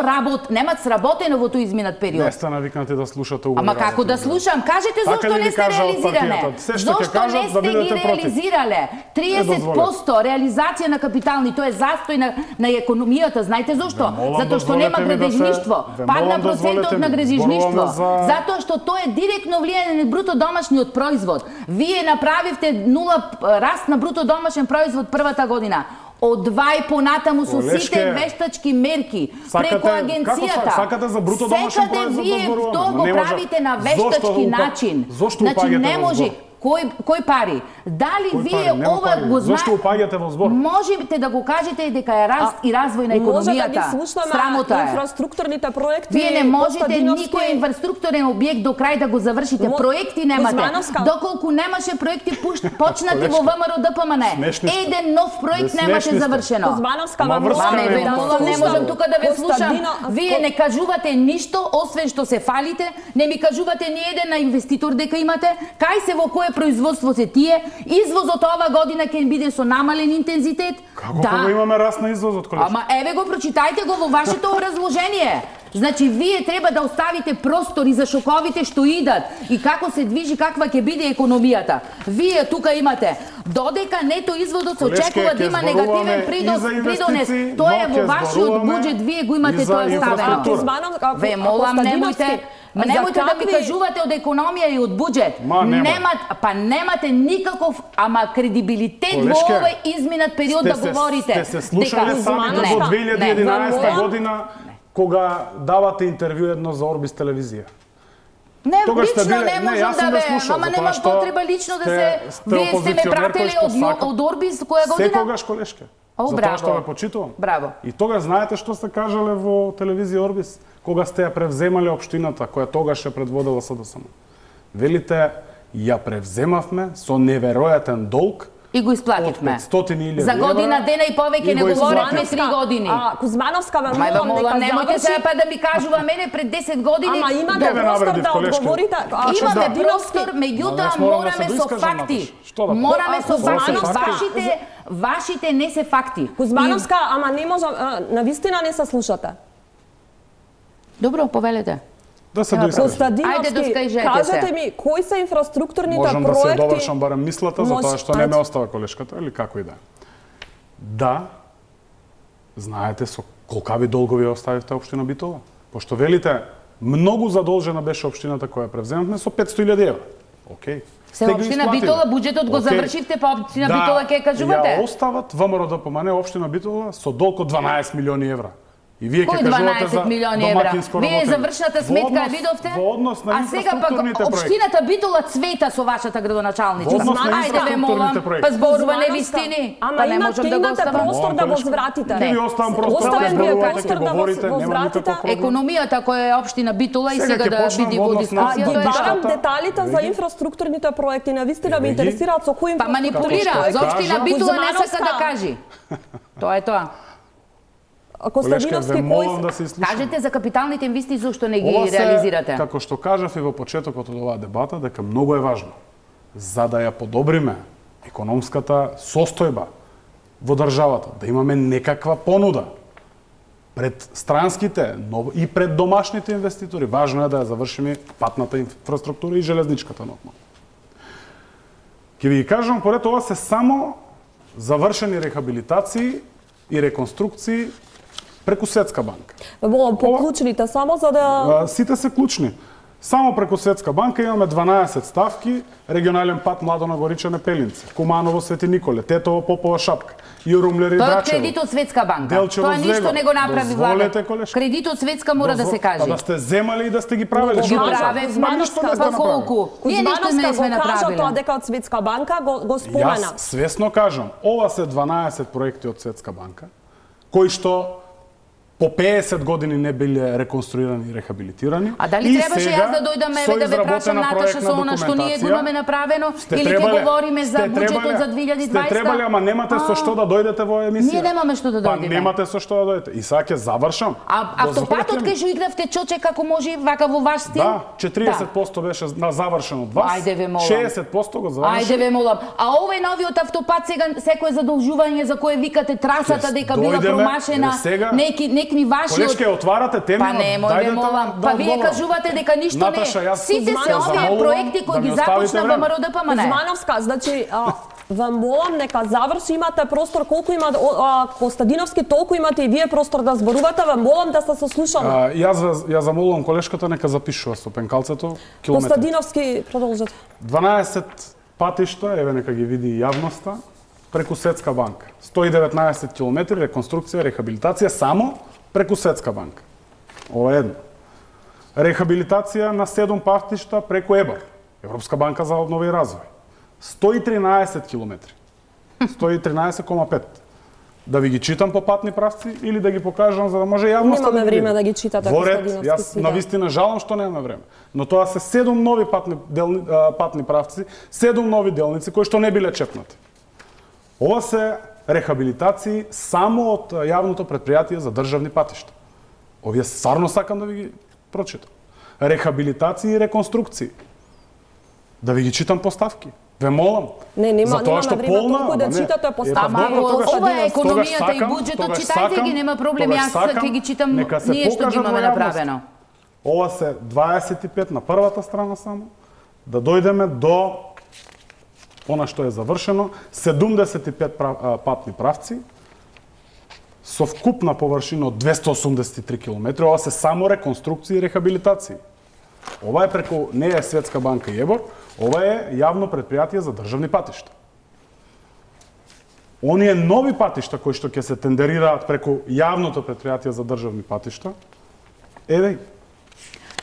немат сработено во тој изминат период. Не сте навикнати да слушате уговори. Ама како да слушам? Кажете зошто не сте реализирале? Зошто не сте ги реализирале? 30% реализација на капитални, тоа е застој на економијата. Знаете зошто? Затоа што нема градежништво. Падна процентот на градежништво. Затоа што тоа е директно влијање на бруто домашниот производ. Вие направивте нула раст на бруто домашен производ првата година. Одвај понатаму со сите вештачки мерки преку агенцијата. Сакате за бруто домашен производ да вие тоа го правите на вештачки начин. Значи не може. Кој пари? Дали вие ова го знаете? Зошто упаѓате во збор? Можете да го кажете дека е раст и развој на економијата. Може да ги слушаме инфраструктурните проекти. Вие не можете никој инфраструктурен објект до крај да го завршите. Проекти немате. Доколку немаше проекти почнати во ВМРО ДПМН. Еден нов проект немаше завршено. Кузмановска, не можам тука да ве слушам. Вие не кажувате ништо, освен што се фалите. Не ми кажувате ни еден на инвеститор дека имате. Кај се во кој производство се тие, извозот ова година ќе биде со намален интензитет. Како кога имаме раст на извозот, колешки? Ама еве го прочитајте го во вашето образложение. Значи вие треба да оставите простори за шоковите што идат и како се движи, каква ќе биде економијата. Вие тука имате додека нето изводот се очекува да има негативен придонес. Тоа е во вашиот буџет, вие го имате тоа ставено. Ве молам, немојте да ми кажувате од економија и од буџет. Немате никаков кредибилитет во овој изминат период да говорите. Сте се слушале сами до 2011 година кога давате интервју едно за Орбис телевизија. Не, лично не можам да ве, ама нема потреба лично да се... Вие сте ме пратели од Орбис која година? Секогаш, колешке. Затоа што ве почитувам. Браво. И тогаш знаете што сте кажале во телевизија Орбис? Кога сте ја превземале општината, која тогаш ја предводела СДСМ. Велите, ја превземавме со неверојатен долг и го исплативме. За година дена и повеќе не говоревме 3 години. Кузмановска ме молам, немојте сега па да ми кажува мене пред 10 години. Ама имате простор да одговорите. Имаме простор, меѓутоа мораме со факти. Мораме со факти. Вашите не се факти. Кузмановска, ама не можам, навистина не се слушате. Добро, повелете. Да се доискажете. Кажете ми, кои се инфраструктурните проекти... Можам да се довршам барем мислата, затоа што не ме остава колешката, или како и да. Да, знаете со колкави долгови оставивте општина Битола? Пошто велите, многу задолжена беше општината која превземавме со 500.000 евра. Океј. Се општина Битола, буџетот го завршивте, па општина Битола ќе кажувате? Ја остават ВМРО ДПМН општина Битола со долг од 12 милиони евра. И вие ќе кажувате за домакинско Вие работење. завршната сметка видовте? Во однос на а сега пак општината Битола цвета со вашата градоначалничка. Ајде ве молам, па зборува невистини. Ама имате простор да возвратите. Не ви оставам простор да зборувате, ќе говорите, нема никаков проблем. Економијата која е општина Битола и сега да биде во дискусија, тоа е барам деталите за инфраструктурните проекти, навистина ме интересираат со кои. Па манипулира, за општина Битола не сака да кажи. Тоа е тоа. Костадиновски кој да кажете за капиталните инвестиции зошто не ги реализирате? Како што кажав и во почетокот од оваа дебата, дека многу е важно за да ја подобриме економската состојба во државата, да имаме некаква понуда пред странските и пред домашните инвеститори. Важно е да ја завршиме патната инфраструктура и железничката нормално. Ќе ви кажам, поред ова се само завршени рехабилитации и реконструкции преку Светска банка. Молам, по клучните само за да... Сите се клучни. Само преку Светска банка имаме 12 ставки, регионален пат Младона Горичане Пелинци, Куманово Свети Николе, Тетово Попова Шапка, Јурумлери Драчево. Тоа е кредит од Светска банка. Делчево Тоа ништо не го направи владата. Кредит од Светска мора да се каже. Да сте земали и да сте ги правеле. Ги праве па колку? Ние ништо не сме направиле. Тоа дека од Светска банка го спомена. Јас свесно кажам, ова се 12 проекти од Светска банка, кои што по 50 години не биле реконструирани и рехабилитирани. А дали требаше јас да дојдам да ве прашам Наташа со она што ние го имаме направено или ќе говориме за буџетот за 2020? Сте требале, ама немате со што да дојдете во емисија. Ние немаме што да дојдеме. Па немате со што да дојдете. И сега ќе завршам. А автопатот кај што игравте чоче како може вака во ваш стил? Да, 40% беше на завршен од вас. Ајде ве молам. 60% го заврши. Ајде ве молам. А овој новиот автопат сега секое задолжување за кое викате трасата дека била промашена, некни ваши. Колешке отварате теми, па немој ве молам. Па вие кажувате дека ништо не. Сите се овие проекти кои ги започна ВМРО ДПМН. Кузмановска, значи ве молам нека заврши, имате простор колку има Костадиновски, толку имате и вие простор да зборувате, ве молам да се сослушаме. Ја замолувам колешката нека запишува со пенкалцето километри. Костадиновски продолжете. 12 патишта, еве нека ги види јавноста, преку Светска банка. 119 километри реконструкција, рехабилитација само преку Светска банка. Ова е едно. Рехабилитација на 7 патишта преку ЕБР, Европска банка за обнова и развој. 113 километри. 113,5. Да ви ги читам по патни правци или да ги покажам за да може јавноста да немаме време да ги читате Костадиновски. Јас навистина жалам што немаме време. Но тоа се 7 нови патни правци, 7 нови делници кои што не биле чепнати. Ова се рехабилитации само од јавното претпријатие за државни патишта. Овие стварно сакам да ви ги прочитам. Рехабилитации и реконструкции. Да ви ги читам поставки. Ве молам. Нема време толку да читате поставки. Ова е економијата и буџетот, читајте ги, нема проблем. Јас ќе ги читам ние што ги имаме направено. Ова се 25 на првата страна само. Да дојдеме до она што е завршено, 75 патни правци со вкупна површина од 283 км. Ова се само реконструкции и рехабилитации. Ова е преку, не е Светска банка и ЕБОР, ова е јавно претпријатие за државни патишта. Оние нови патишта кои што ќе се тендерираат преку јавното претпријатие за државни патишта, еве.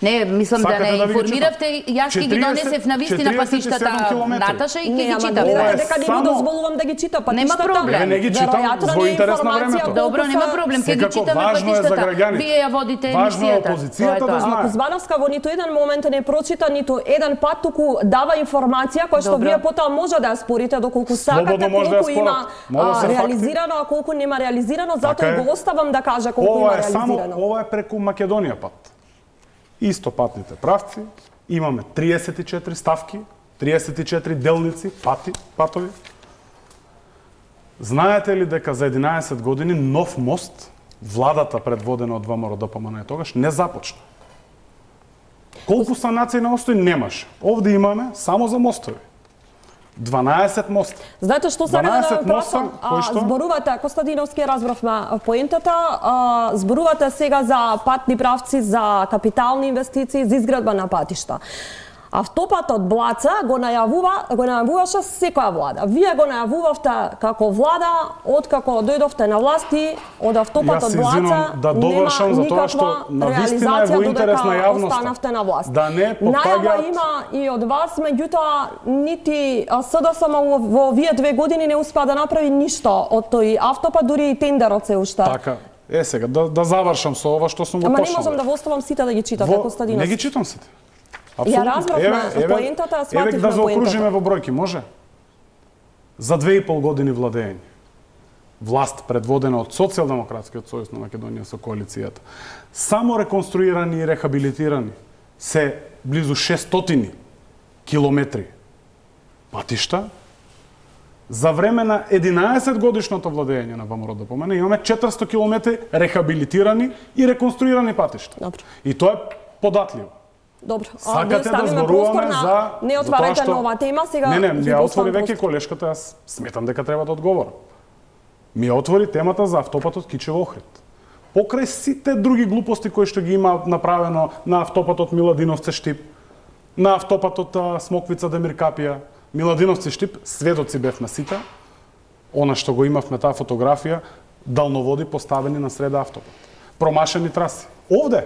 Не, мислам да не информиравте, јас ќе ги донесев на вистина патиштата Наташа и ќе ги читам. Дека не го дозволувам да ги чита патиштата. Нема проблем. Не ги читам во интерес на времето. Добро, нема проблем, ќе ги читаме патиштата. Вие ја водите емисијата. Важно е опозицијата да знае. Кузмановска во ниту еден момент не прочита ниту еден пат, туку дава информација која што вие потоа може да ја спорите доколку сакате, колку има реализирано, а колку нема реализирано, затоа го оставам да каже колку има реализирано. Ова е преку Македонија пат. Исто патните правци, имаме 34 ставки, 34 делници, патови. Знаете ли дека за 11 години нов мост, владата предводена од ВМРО ДПМН тогаш, не започна? Колку санации на мостови немаше? Овде имаме само за мостови. 12 моста. Знаете што сакам да прашам? Зборувате, Костадиновски, разбравме поентата, зборувате сега за патни правци, за капитални инвестиции, за изградба на патишта. Автопатот Блаца го најавуваше секоја влада. Вие го најавувавте како влада, откако дојдовте на власти, од автопатот Блаца да довршам за тоа што навистина е во интерес на јавноста. Останавте на власт. Да не потпаѓаат. Најава има и од вас, меѓутоа нити СДСМ во овие 2 години не успеа да направи ништо од тој автопат, дури и тендерот се уште. Така. Сега да завршам со ова што сум го почнал. Ама не можам да го оставам сите да ги читате, Костадинов. Не ги читам сите. Ја разбравме поентата, свативме поентата. Еве да заокружиме во бројки, може? За 2,5 години владење. Власт предводена од Социјалдемократскиот сојуз на Македонија со коалицијата. Само реконструирани и рехабилитирани се близу 600 километри патишта. За време на 11 годишното владење на ВМРО-ДПМН имаме 400 километри рехабилитирани и реконструирани патишта. Добро. И тоа е податливо. Добро. Сакате да зборуваме за... Не отварате нова тема, сега... Не, ја отвори веќе колешката, јас сметам дека треба да одговорам. Ми ја отвори темата за автопатот Кичево-Охрид. Покрај сите други глупости кои што ги има направено на автопатот Миладиновци-Штип, на автопатот Смоквица-Демиркапија, Миладиновци-Штип, сведоци бевме сите, она што го имавме таа фотографија, далноводи поставени на среда автопат. Промашени траси. Овде!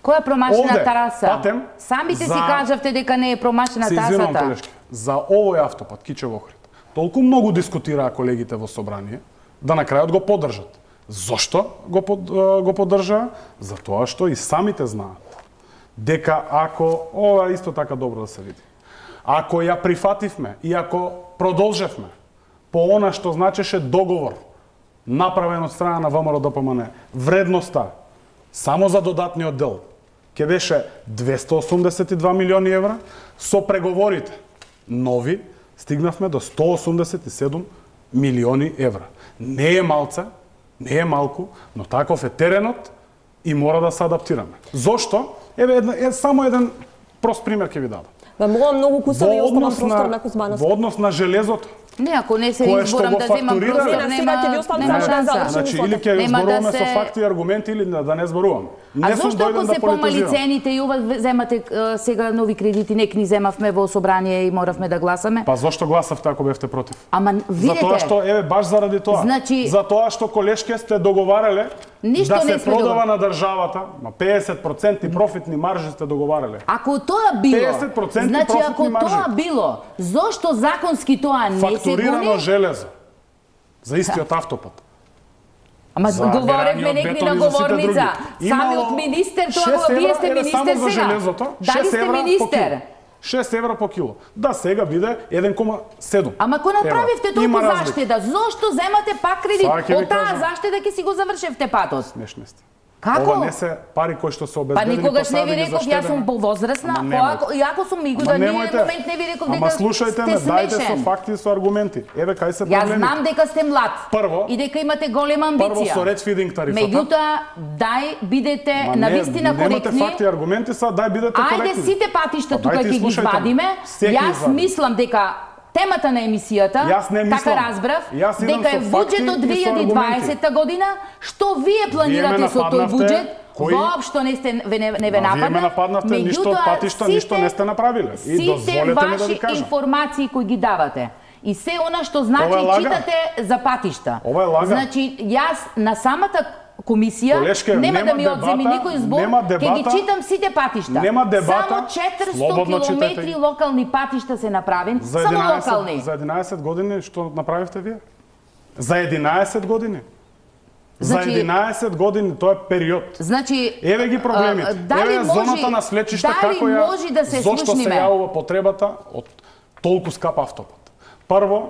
Која е промашена траса? Патем, самите си кажавте дека не е промашена трасата. За овој автопат Кичево-Охрид толку многу дискутираа колегите во собрание, да на крајот го поддржат. Зошто го поддржаа? Затоа што и самите знаат дека ако ова исто така добро да се види. Ако ја прифативме и ако продолжевме по она што значеше договор направен од страна на ВМРО-ДПМН, вредноста само за додатниот дел ќе беше 282 милиони евра, со преговорите нови стигнавме до 187 милиони евра. Не е малце, не е малку, но таков е теренот и мора да се адаптираме. Зошто? Еве само еден прост пример ќе ви дадам. Ме молам многу кусави и оставам простор на Кузмановски. Во однос на железото, не, ако не се изборам да земам простор, нема значи, или ќе зборуваме со факти и аргументи, или да не зборуваме. А зошто ако се помали цените и ова земате сега нови кредити, нек ни земавме во собрание и моравме да гласаме? Па зошто гласавте ако бевте против? Ама видете... Затоа што, баш заради тоа. Значи... Затоа што колешке сте договарале да се продава на државата, 50% профитни маржи сте договарале. Ако тоа било, 50% значи ако тоа било, зошто законски тоа не се гони? Фактурирано железо за истиот автопат. Ама говоревме некои на говорница. Самиот министер, тоа вие сте министер сега. Дали сте министер? 6 евра по кило. Да, сега биде 1,7. Ама ако направивте толку заштеда, зошто земате пак кредит? Од таа заштеда ќе си го завршевте патот. Смешни сте. Како? Ова не се пари кои што се обезбедени. Па никогаш не ви реков, јас сум повозрасна, иако сум мигу да ние момент не ви реков дека сте слушајте ме, дајте со факти и со аргументи. Еве кај се проблемите. Јас знам дека сте млад. Прво, и дека имате голема амбиција. Прво со ред фидинг тарифата. Меѓутоа, бидете навистина коректни. Немате факти и аргументи, бидете коректни. Ајде сите патишта тука ќе ги извадиме. Јас мислам дека темата на емисијата, така разбрав, дека е буџетот 2020 година, што вие планирате со тој буџет, воопшто не ве нападна. Вие ме нападнавте, ништо патишта, ништо не сте направиле. И дозволете ми да ви кажам. Сите ваши информации кои ги давате, и се она што значи читате за патишта. Ова е лага. Значи, јас на самата комисија нема да ми одземи никој збор, ќе ги читам сите патишта. Само 400 километри локални патишта се направени, само локални. За 11 години што направивте вие? За 11 години? За 11 години, тоа е период. Значи, еве ги проблемите. Еве зоната на Слечиште, како ја, зошто се јавува потребата од толку скап автопат. Прво,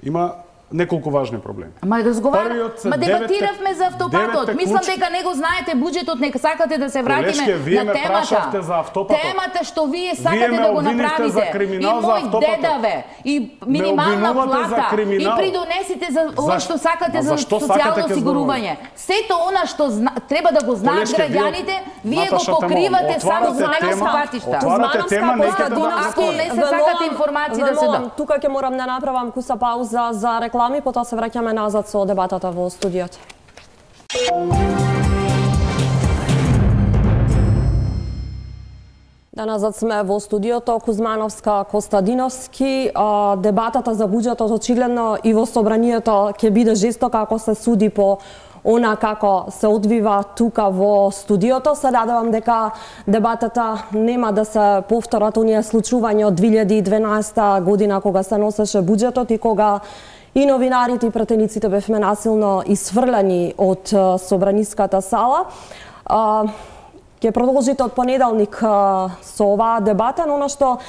има неколку важни проблеми. Ма дебатиравме за автопатот. Мислам дека не го знаете буџетот, нека сакате да се вратиме на темата. Темата што вие сакате да го направите. И мој дедаве, и минимална плата, и придонесите за ова што сакате за социјално осигурување. Сето она што треба да го знаат граѓаните, вие го покривате само за некоја патишта. Отварате тема, ако не се сакате информации да се да. Тука ќе морам да направам куса пауза за реклама. Потоа се враќаме назад со дебатата во студиото. Деназад сме во студиото Кузмановска Костадиновски. Дебатата за буџетот очигледно и во собранието ќе биде жестока ако се суди по она како се одвива тука во студиото. Се надевам дека дебатата нема да се повторат оние случувања од 2012 година кога се носеше буџетот и кога и новинарите и пратениците бевме насилно исфрлани од собраниската сала. Ќе продолжите од понеделник со оваа дебата, но она што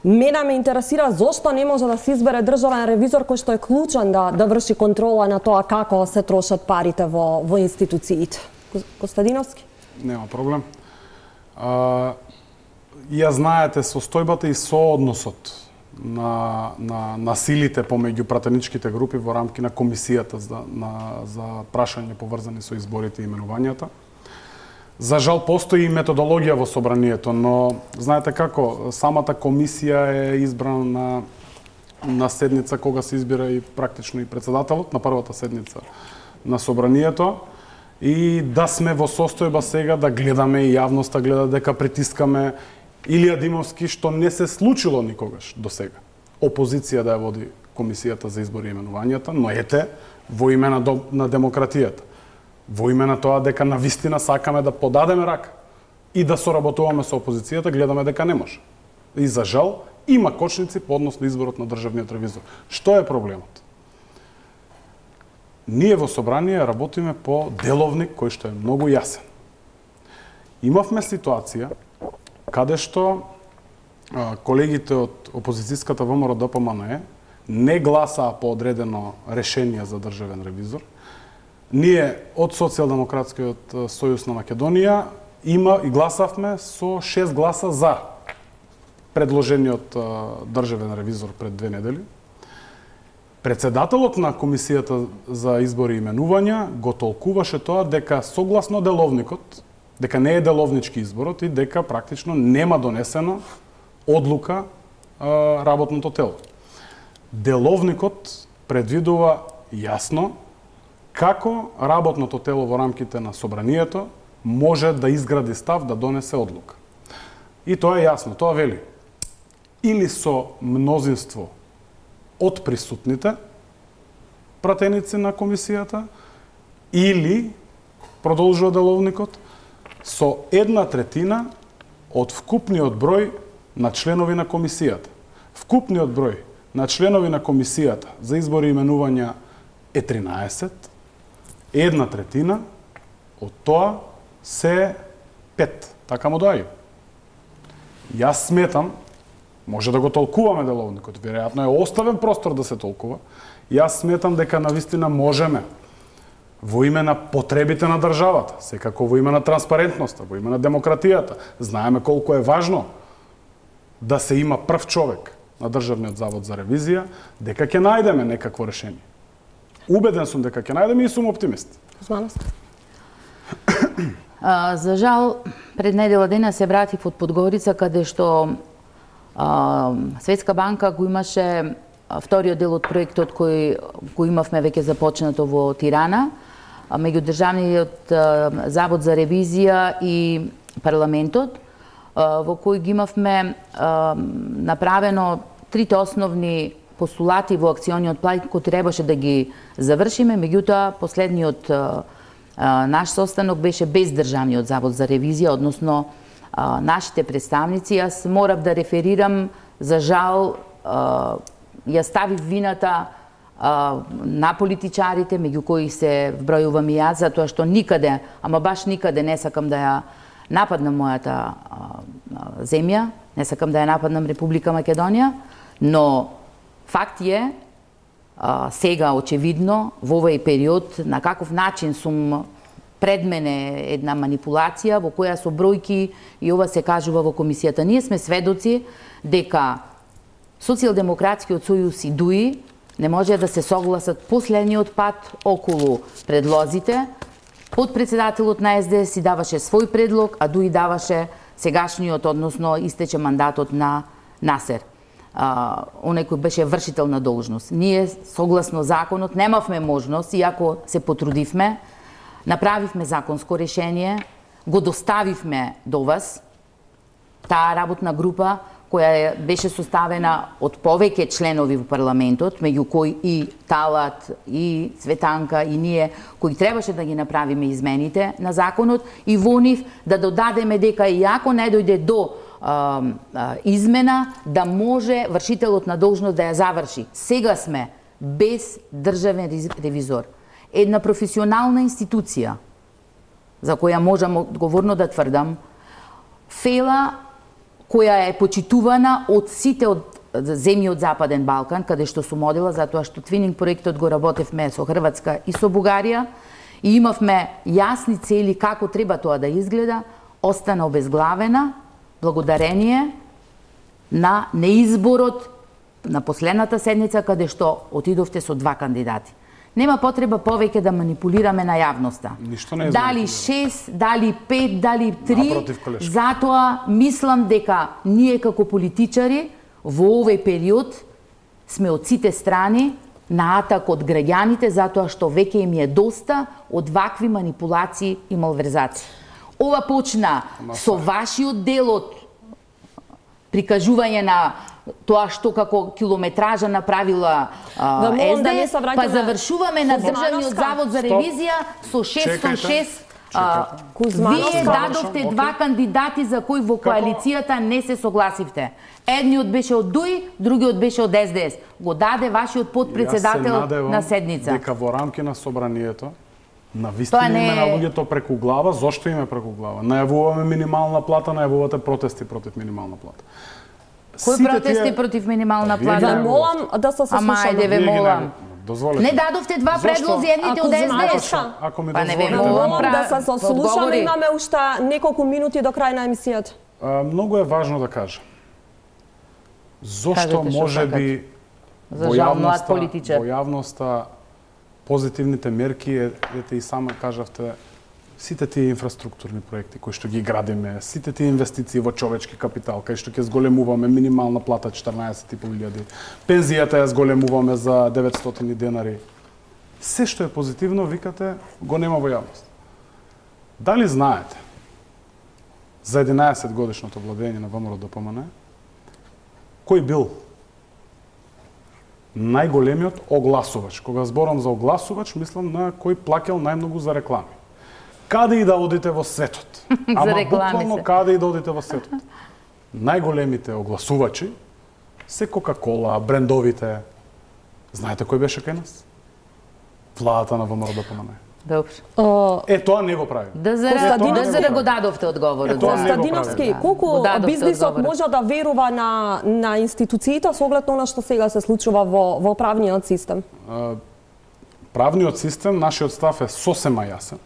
мене ме интересира зошто не може да се избере државен ревизор кој што е клучен да врши контрола на тоа како се трошат парите во институциите. Костадиновски? Нема проблем. Ја знаете состојбата и соодносот на силите помеѓу пратеничките групи во рамки на комисијата за прашање поврзани со изборите и именувањата. За жал постои и методологија во собранието, но знаете како, самата комисија е избрана на седница кога се избира и практично и председателот на првата седница на собранието и да сме во состојба сега да гледаме и јавноста гледа дека притискаме Илија Димовски, што не се случило никогаш до сега. Опозиција да ја води комисијата за избори и именувањата, но ете во име на демократијата. Во име на тоа дека навистина сакаме да подадеме рака и да соработуваме со опозицијата, гледаме дека не може. И за жал, има кочници по однос на изборот на државниот ревизор. Што е проблемот? Ние во собрание работиме по деловник кој што е многу јасен. Имавме ситуација каде што колегите од опозицијската ВМРО ДПМНЕ не гласаа по одредено решение за државен ревизор. Ние од Социјалдемократскиот сојуз на Македонија и гласавме со 6 гласа за предложениот државен ревизор пред 2 недели. Председателот на комисијата за избори и именувања го толкуваше тоа дека согласно деловникот, дека не е деловнички изборот и дека практично нема донесена одлука работното тело. Деловникот предвидува јасно како работното тело во рамките на собранието може да изгради став да донесе одлука. И тоа е јасно, тоа вели или со мнозинство од присутните пратеници на комисијата, или, продолжува деловникот, со 1/3 од вкупниот број на членови на комисијата. Вкупниот број на членови на комисијата за избори и именувања е 13, 1/3 од тоа се 5. Така му доаѓа. Јас сметам, може да го толкуваме деловникот, веројатно е оставен простор да се толкува, јас сметам дека навистина можеме во име на потребите на државата, секако во име на транспарентноста, во име на демократијата. Знаеме колку е важно да се има прв човек на Државниот завод за ревизија, дека ќе најдеме некакво решение. Убеден сум дека ќе најдеме и сум оптимист. За жал, пред недела дена се вратив од Подгорица, каде што Светска банка го имаше вториот дел од проектот кој имавме веќе започнато во Тирана, меѓу Државниот завод за ревизија и парламентот, во кој ги имавме направено трите основни постулати во акциониот план кој требаше да ги завршиме, меѓутоа последниот наш состанок беше без Државниот завод за ревизија, односно нашите представници. Јас морав да реферирам, за жал, ја ставив вината на политичарите, меѓу кои се вбројувам и јас, затоа што никаде, ама баш никаде не сакам да ја нападнам мојата земја, не сакам да ја нападнам Република Македонија, но факт е, сега очевидно, во овој период, на каков начин сум пред мене една манипулација во која со бројки и ова се кажува во комисијата. Ние сме сведоци дека Социјалдемократскиот сојуз и ДУИ не може да се согласат последниот пат околу предлозите. Подпредседателот на СДС си даваше свој предлог, а ДУИ даваше сегашниот, односно истече мандатот на Насер. Оној кој беше вршител на должност. Ние, согласно законот, немавме можност, иако се потрудивме, направивме законско решение, го доставивме до вас, таа работна група која беше составена од повеќе членови во парламентот, меѓу кои и Талат, и Цветанка, и ние, кои требаше да ги направиме измените на законот, и во нив да додадеме дека и ако не дојде до измена, да може вршителот на должност да ја заврши. Сега сме без државен ревизор. Една професионална институција, за која можам одговорно да тврдам, фела која е почитувана од сите од земји од Западен Балкан, каде што су модела, затоа што твининг проектот го работевме со Хрватска и со Бугарија, и имавме јасни цели како треба тоа да изгледа, остана обезглавена благодарение на неизборот на последната седница, каде што отидовте со 2 кандидати. Нема потреба повеќе да манипулираме на јавноста. Дали 6, дали 5, дали 3, затоа мислам дека ние како политичари во овој период сме од сите страни на атак од граѓаните, затоа што веќе им е доста од вакви манипулации и малверзации. Ова почна со вашиот дел од прикажување на тоа што како километража направила СДС, па завршуваме на Државниот завод за ревизија со 606. Вие дадовте 2 кандидати за кои во коалицијата не се согласивте. Едниот беше од ДУИ, другиот беше од СДС. Го даде вашиот подпредседател на седница. Дека во рамки на собранието на вистина име на луѓето преку глава, зошто име преку глава? Најавуваме минимална плата, најавувате протести против минимална плата. Кои протести против минимална плата? Ве молам да се слушаме. Ама ајде ве молам. Дозволете. Не дадовте 2 предлози, едните од СДС. Ако ми дозволите. Молам да се сослушаме, имаме уште неколку минути до крај на емисијата. Многу е важно да кажам. Зошто можеби во јавноста позитивните мерки, ете и сама кажавте, сите тие инфраструктурни проекти кои што ги градиме, сите тие инвестиции во човечки капитал, кај што ќе зголемуваме минимална плата 14.500, пензијата ја зголемуваме за 900 денари. Се што е позитивно, викате, го нема во јавност. Дали знаете за 11 годишното владење на ВМРО ДПМН кој бил најголемиот огласувач? Кога зборам за огласувач, мислам на кој плаќал најмногу за реклами. Каде и да одите во светот, ама буквално каде и да одите во светот, најголемите огласувачи се Кока-кола, брендовите. Знаете кој беше кај нас? Владата на ВМРО ДПМН. Добро. Тоа не го прави. ДЗР го дадовте одговорот. Костадиновски, колку бизнисот може да верува на институциите со оглед на она што сега се случува во правниот систем? Правниот систем, нашиот став е сосема јасен.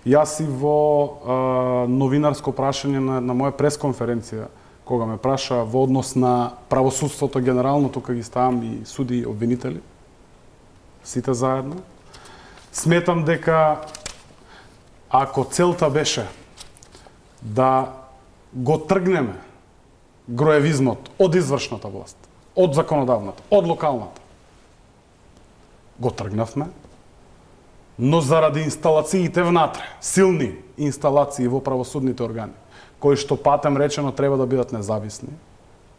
Јас и во новинарско прашање на моја пресконференција, кога ме праша во однос на правосудството генерално, тука ги ставам и суди и обвинители, сите заедно, сметам дека ако целта беше да го тргнеме гроевизмот од извршната власт, од законодавната, од локалната, го тргнавме, но заради инсталациите внатре, силни инсталации во правосудните органи, кои што патем речено треба да бидат независни,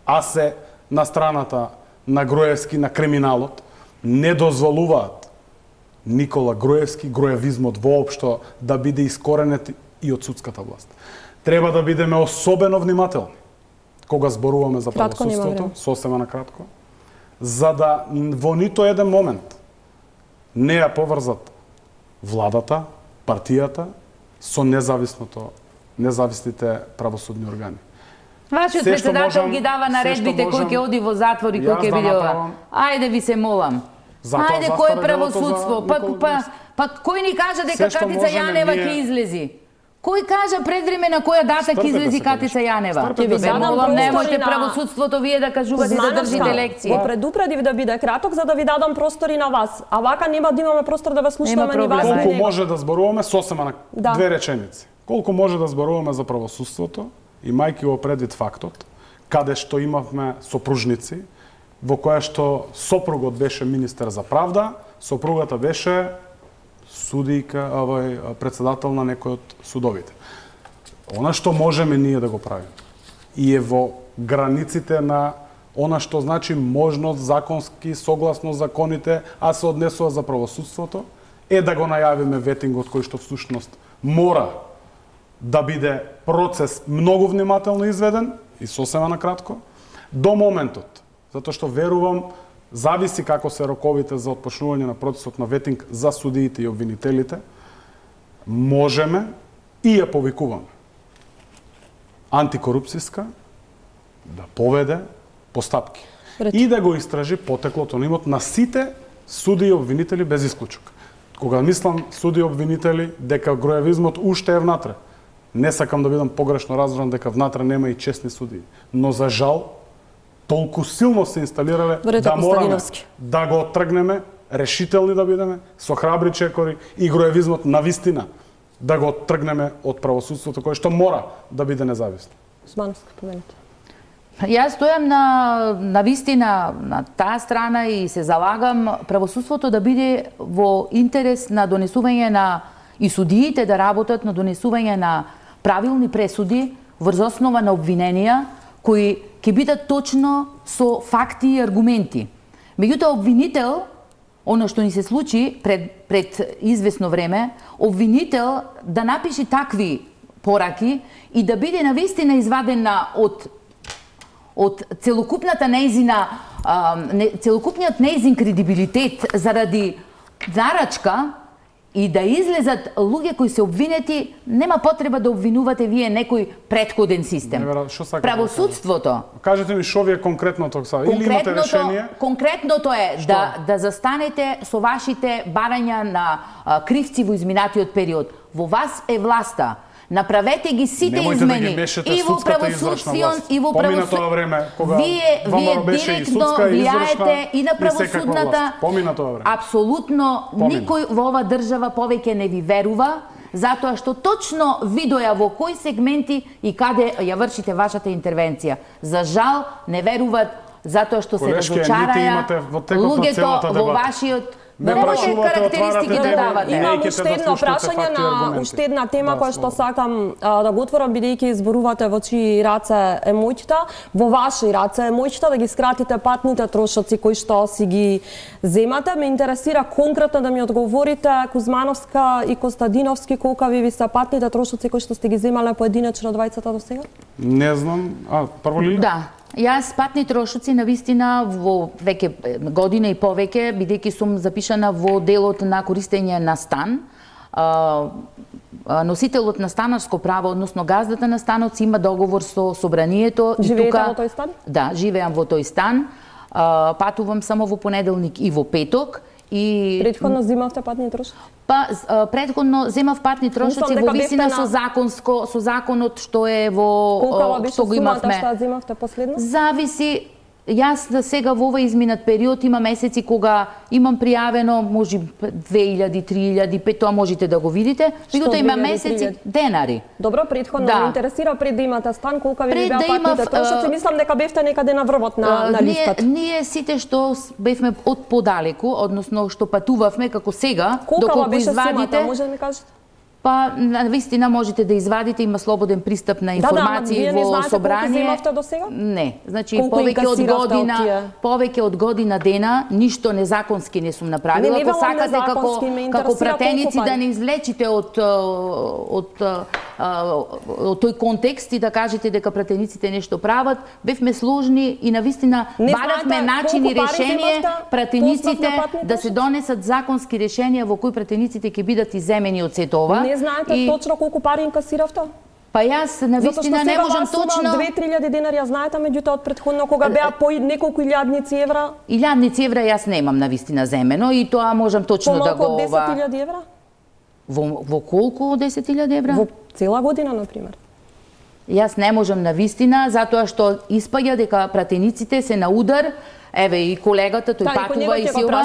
а се на страната на Груевски, на криминалот, не дозволуваат Никола Груевски, груевизмот воопшто да биде искоренет и од судската власт. Треба да бидеме особено внимателни кога зборуваме за правосудството, сосема на кратко, за да во нито еден момент не ја поврзат владата, партијата со независните правосудни органи. Вашиот председател ги дава наредбите кој ќе оди во затвор и кој ќе биде ова. Ајде ви се молам. Ајде кој е правосудство? Па кој ни кажа дека Катица Јанева ќе излези? Кој кажа предвремена која дата ќе излези Катица Јанева? Ќе ви молам, немојте правосудството вие да кажувате и да држите лекции. Го предупредив да биде краток за да ви дадам простори на вас. А вака нема да имаме простор да ве слушнеме ни вас. Колку може да зборуваме сосема на 2 реченици. Колку може да зборуваме за правосудството, имајќи го предвид фактот каде што имавме сопружници во која што сопругот беше министер за правда, сопругата беше судијка, председател на некој од судовите. Она што можеме ние да го правиме и е во границите на она што значи можност законски, согласно законите, а се однесува за правосудството, е да го најавиме ветингот кој што всушност мора да биде процес многу внимателно изведен и сосема накратко, до моментот, затоа што верувам, зависи како се роковите за отпочнување на процесот на ветинг за судиите и обвинителите, можеме и ја повикуваме антикорупцијска да поведе постапки и да го истражи потеклото на имот на сите суди и обвинители без исклучок. Кога мислам суди и обвинители дека гроевизмот уште е внатре, не сакам да бидам погрешно разбран дека внатре нема и честни судии, но за жал толку силно се инсталирале да мораме да го оттргнеме, решителни да бидеме, со храбри чекори и гроевизмот навистина да го оттргнеме од правосудството кое што мора да биде независно. Османовски, поменете. Јас стојам на вистина на таа страна и се залагам правосудството да биде во интерес на донесување на и судиите да работат на донесување на правилни пресуди врз основа на обвиненија кои ќе бидат точно со факти и аргументи. Меѓутоа обвинител, оно што ни се случи пред известно време, обвинител да напише такви пораки и да биде навистина извадена од целокупната нејзина, целокупниот нејзин кредибилитет заради нарачка и да излезат луѓе кои се обвинети, нема потреба да обвинувате вие некој претходен систем. Правосудството. Кажете ми што ви е конкретното сега? Или имате решение? Конкретното е да застанете со вашите барања на кривци во изминатиот период. Во вас е власта. Направете ги сите измени и во правосудствиот и во поминато време кога вие директно влијаете и на правосудната. Поминато време. Апсолутно никој во ова држава повеќе не ви верува, затоа што точно видоја во кои сегменти и каде ја вршите вашата интервенција. За жал не веруваат затоа што се разочараја луѓето во вашиот. Немате карактеристики да давате. Имам уште една тема која што сакам да го отворам, бидејќи изборувате во чии раце е моќта, во ваши раце е моќта да ги скратите патните трошоци кои што си ги земате. Ме интересира конкретно да ми одговорите Кузмановска и Костадиновски колкави ви се патните трошоци кои што сте ги земале поединечно двајцата до сега? Не знам. Прво ли? Да. Јас патни трошоци навистина во веќе година и повеќе, бидејќи сум запишана во делот на користење на стан, носителот на станарско право, односно газдата на станот, има договор со собранието. Живеете во тој стан? Да, живеам во тој стан. Патувам само во понеделник и во петок. И предходно земавте патни трошоци? Предходно земав патни трошоци во висина со законот што е во што го имавме. Колку беше земавте последно? Зависи. Јас сега во овој изминат период има месеци кога имам пријавено може 2000, 3000, 5, тоа можете да го видите. Меѓутоа има месеци денари. Добро, предходно ме интересира пред да имате стан колка ви беа патните трошоци. Мислам дека бевте некаде на врвот на листата. Ние сите што бевме од подалеку, односно што патувавме како сега, доколку извадите, може да ми кажете? Па, навистина можете да извадите, има слободен пристап на информации во собрание. Не, значи повеќе од година дена ништо незаконски не сум направила. Ако сакате како пратеници да не излечите од тој контекст и да кажете дека пратениците нешто прават, бевме сложни и навистина баравме начини решение пратениците да се донесат законски решенија во кои пратениците ќе бидат иземени од сето ова. Не знаете точно колку пари инкасиравте? Па јас навистина не можам точно. 2-3000 денари ја знаете, меѓутоа од претходно кога беа по неколку илјадници евра? Илјадници евра јас немам навистина земено и тоа можам точно да го Помалку од 10.000 евра? Во колку 10.000 евра? Во цела година, например. Јас не можам навистина, затоа што испаѓа дека пратениците се на удар. Еве и колегата, тој патува и силва.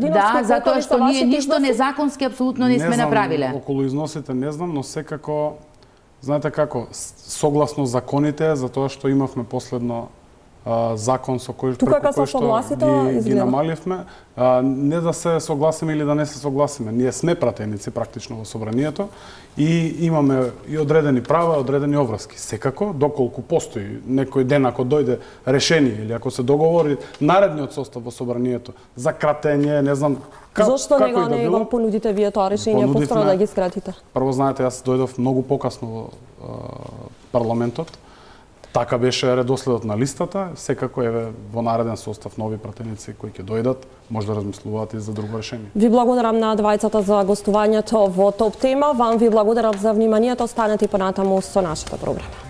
Да, затоа што ние ништо незаконски апсолутно не сме направиле. Околу износите не знам, но секако, знаете како, согласно законите, затоа што имавме последно закон со кој Тука како согласите ги намаливме, не да се согласиме или да не се согласиме. Ние сме пратеници практично во собранието и имаме и одредени права, одредени обврски. Секако, доколку постои некој ден ако дојде решение или ако се договори наредниот состав во собранието за кратење, не знам Зошто не го понудите вие тоа решение постара да ги скратите? Прво знаете, јас дојдов многу покасно во парламентот. Така беше редоследот на листата, секако е во нареден состав нови пратеници кои ќе дојдат, може да размислуваат и за друго решение. Ви благодарам на двајцата за гостувањето во ТОП тема. Вам ви благодарам за вниманието. Останете и понатаму со нашата програма.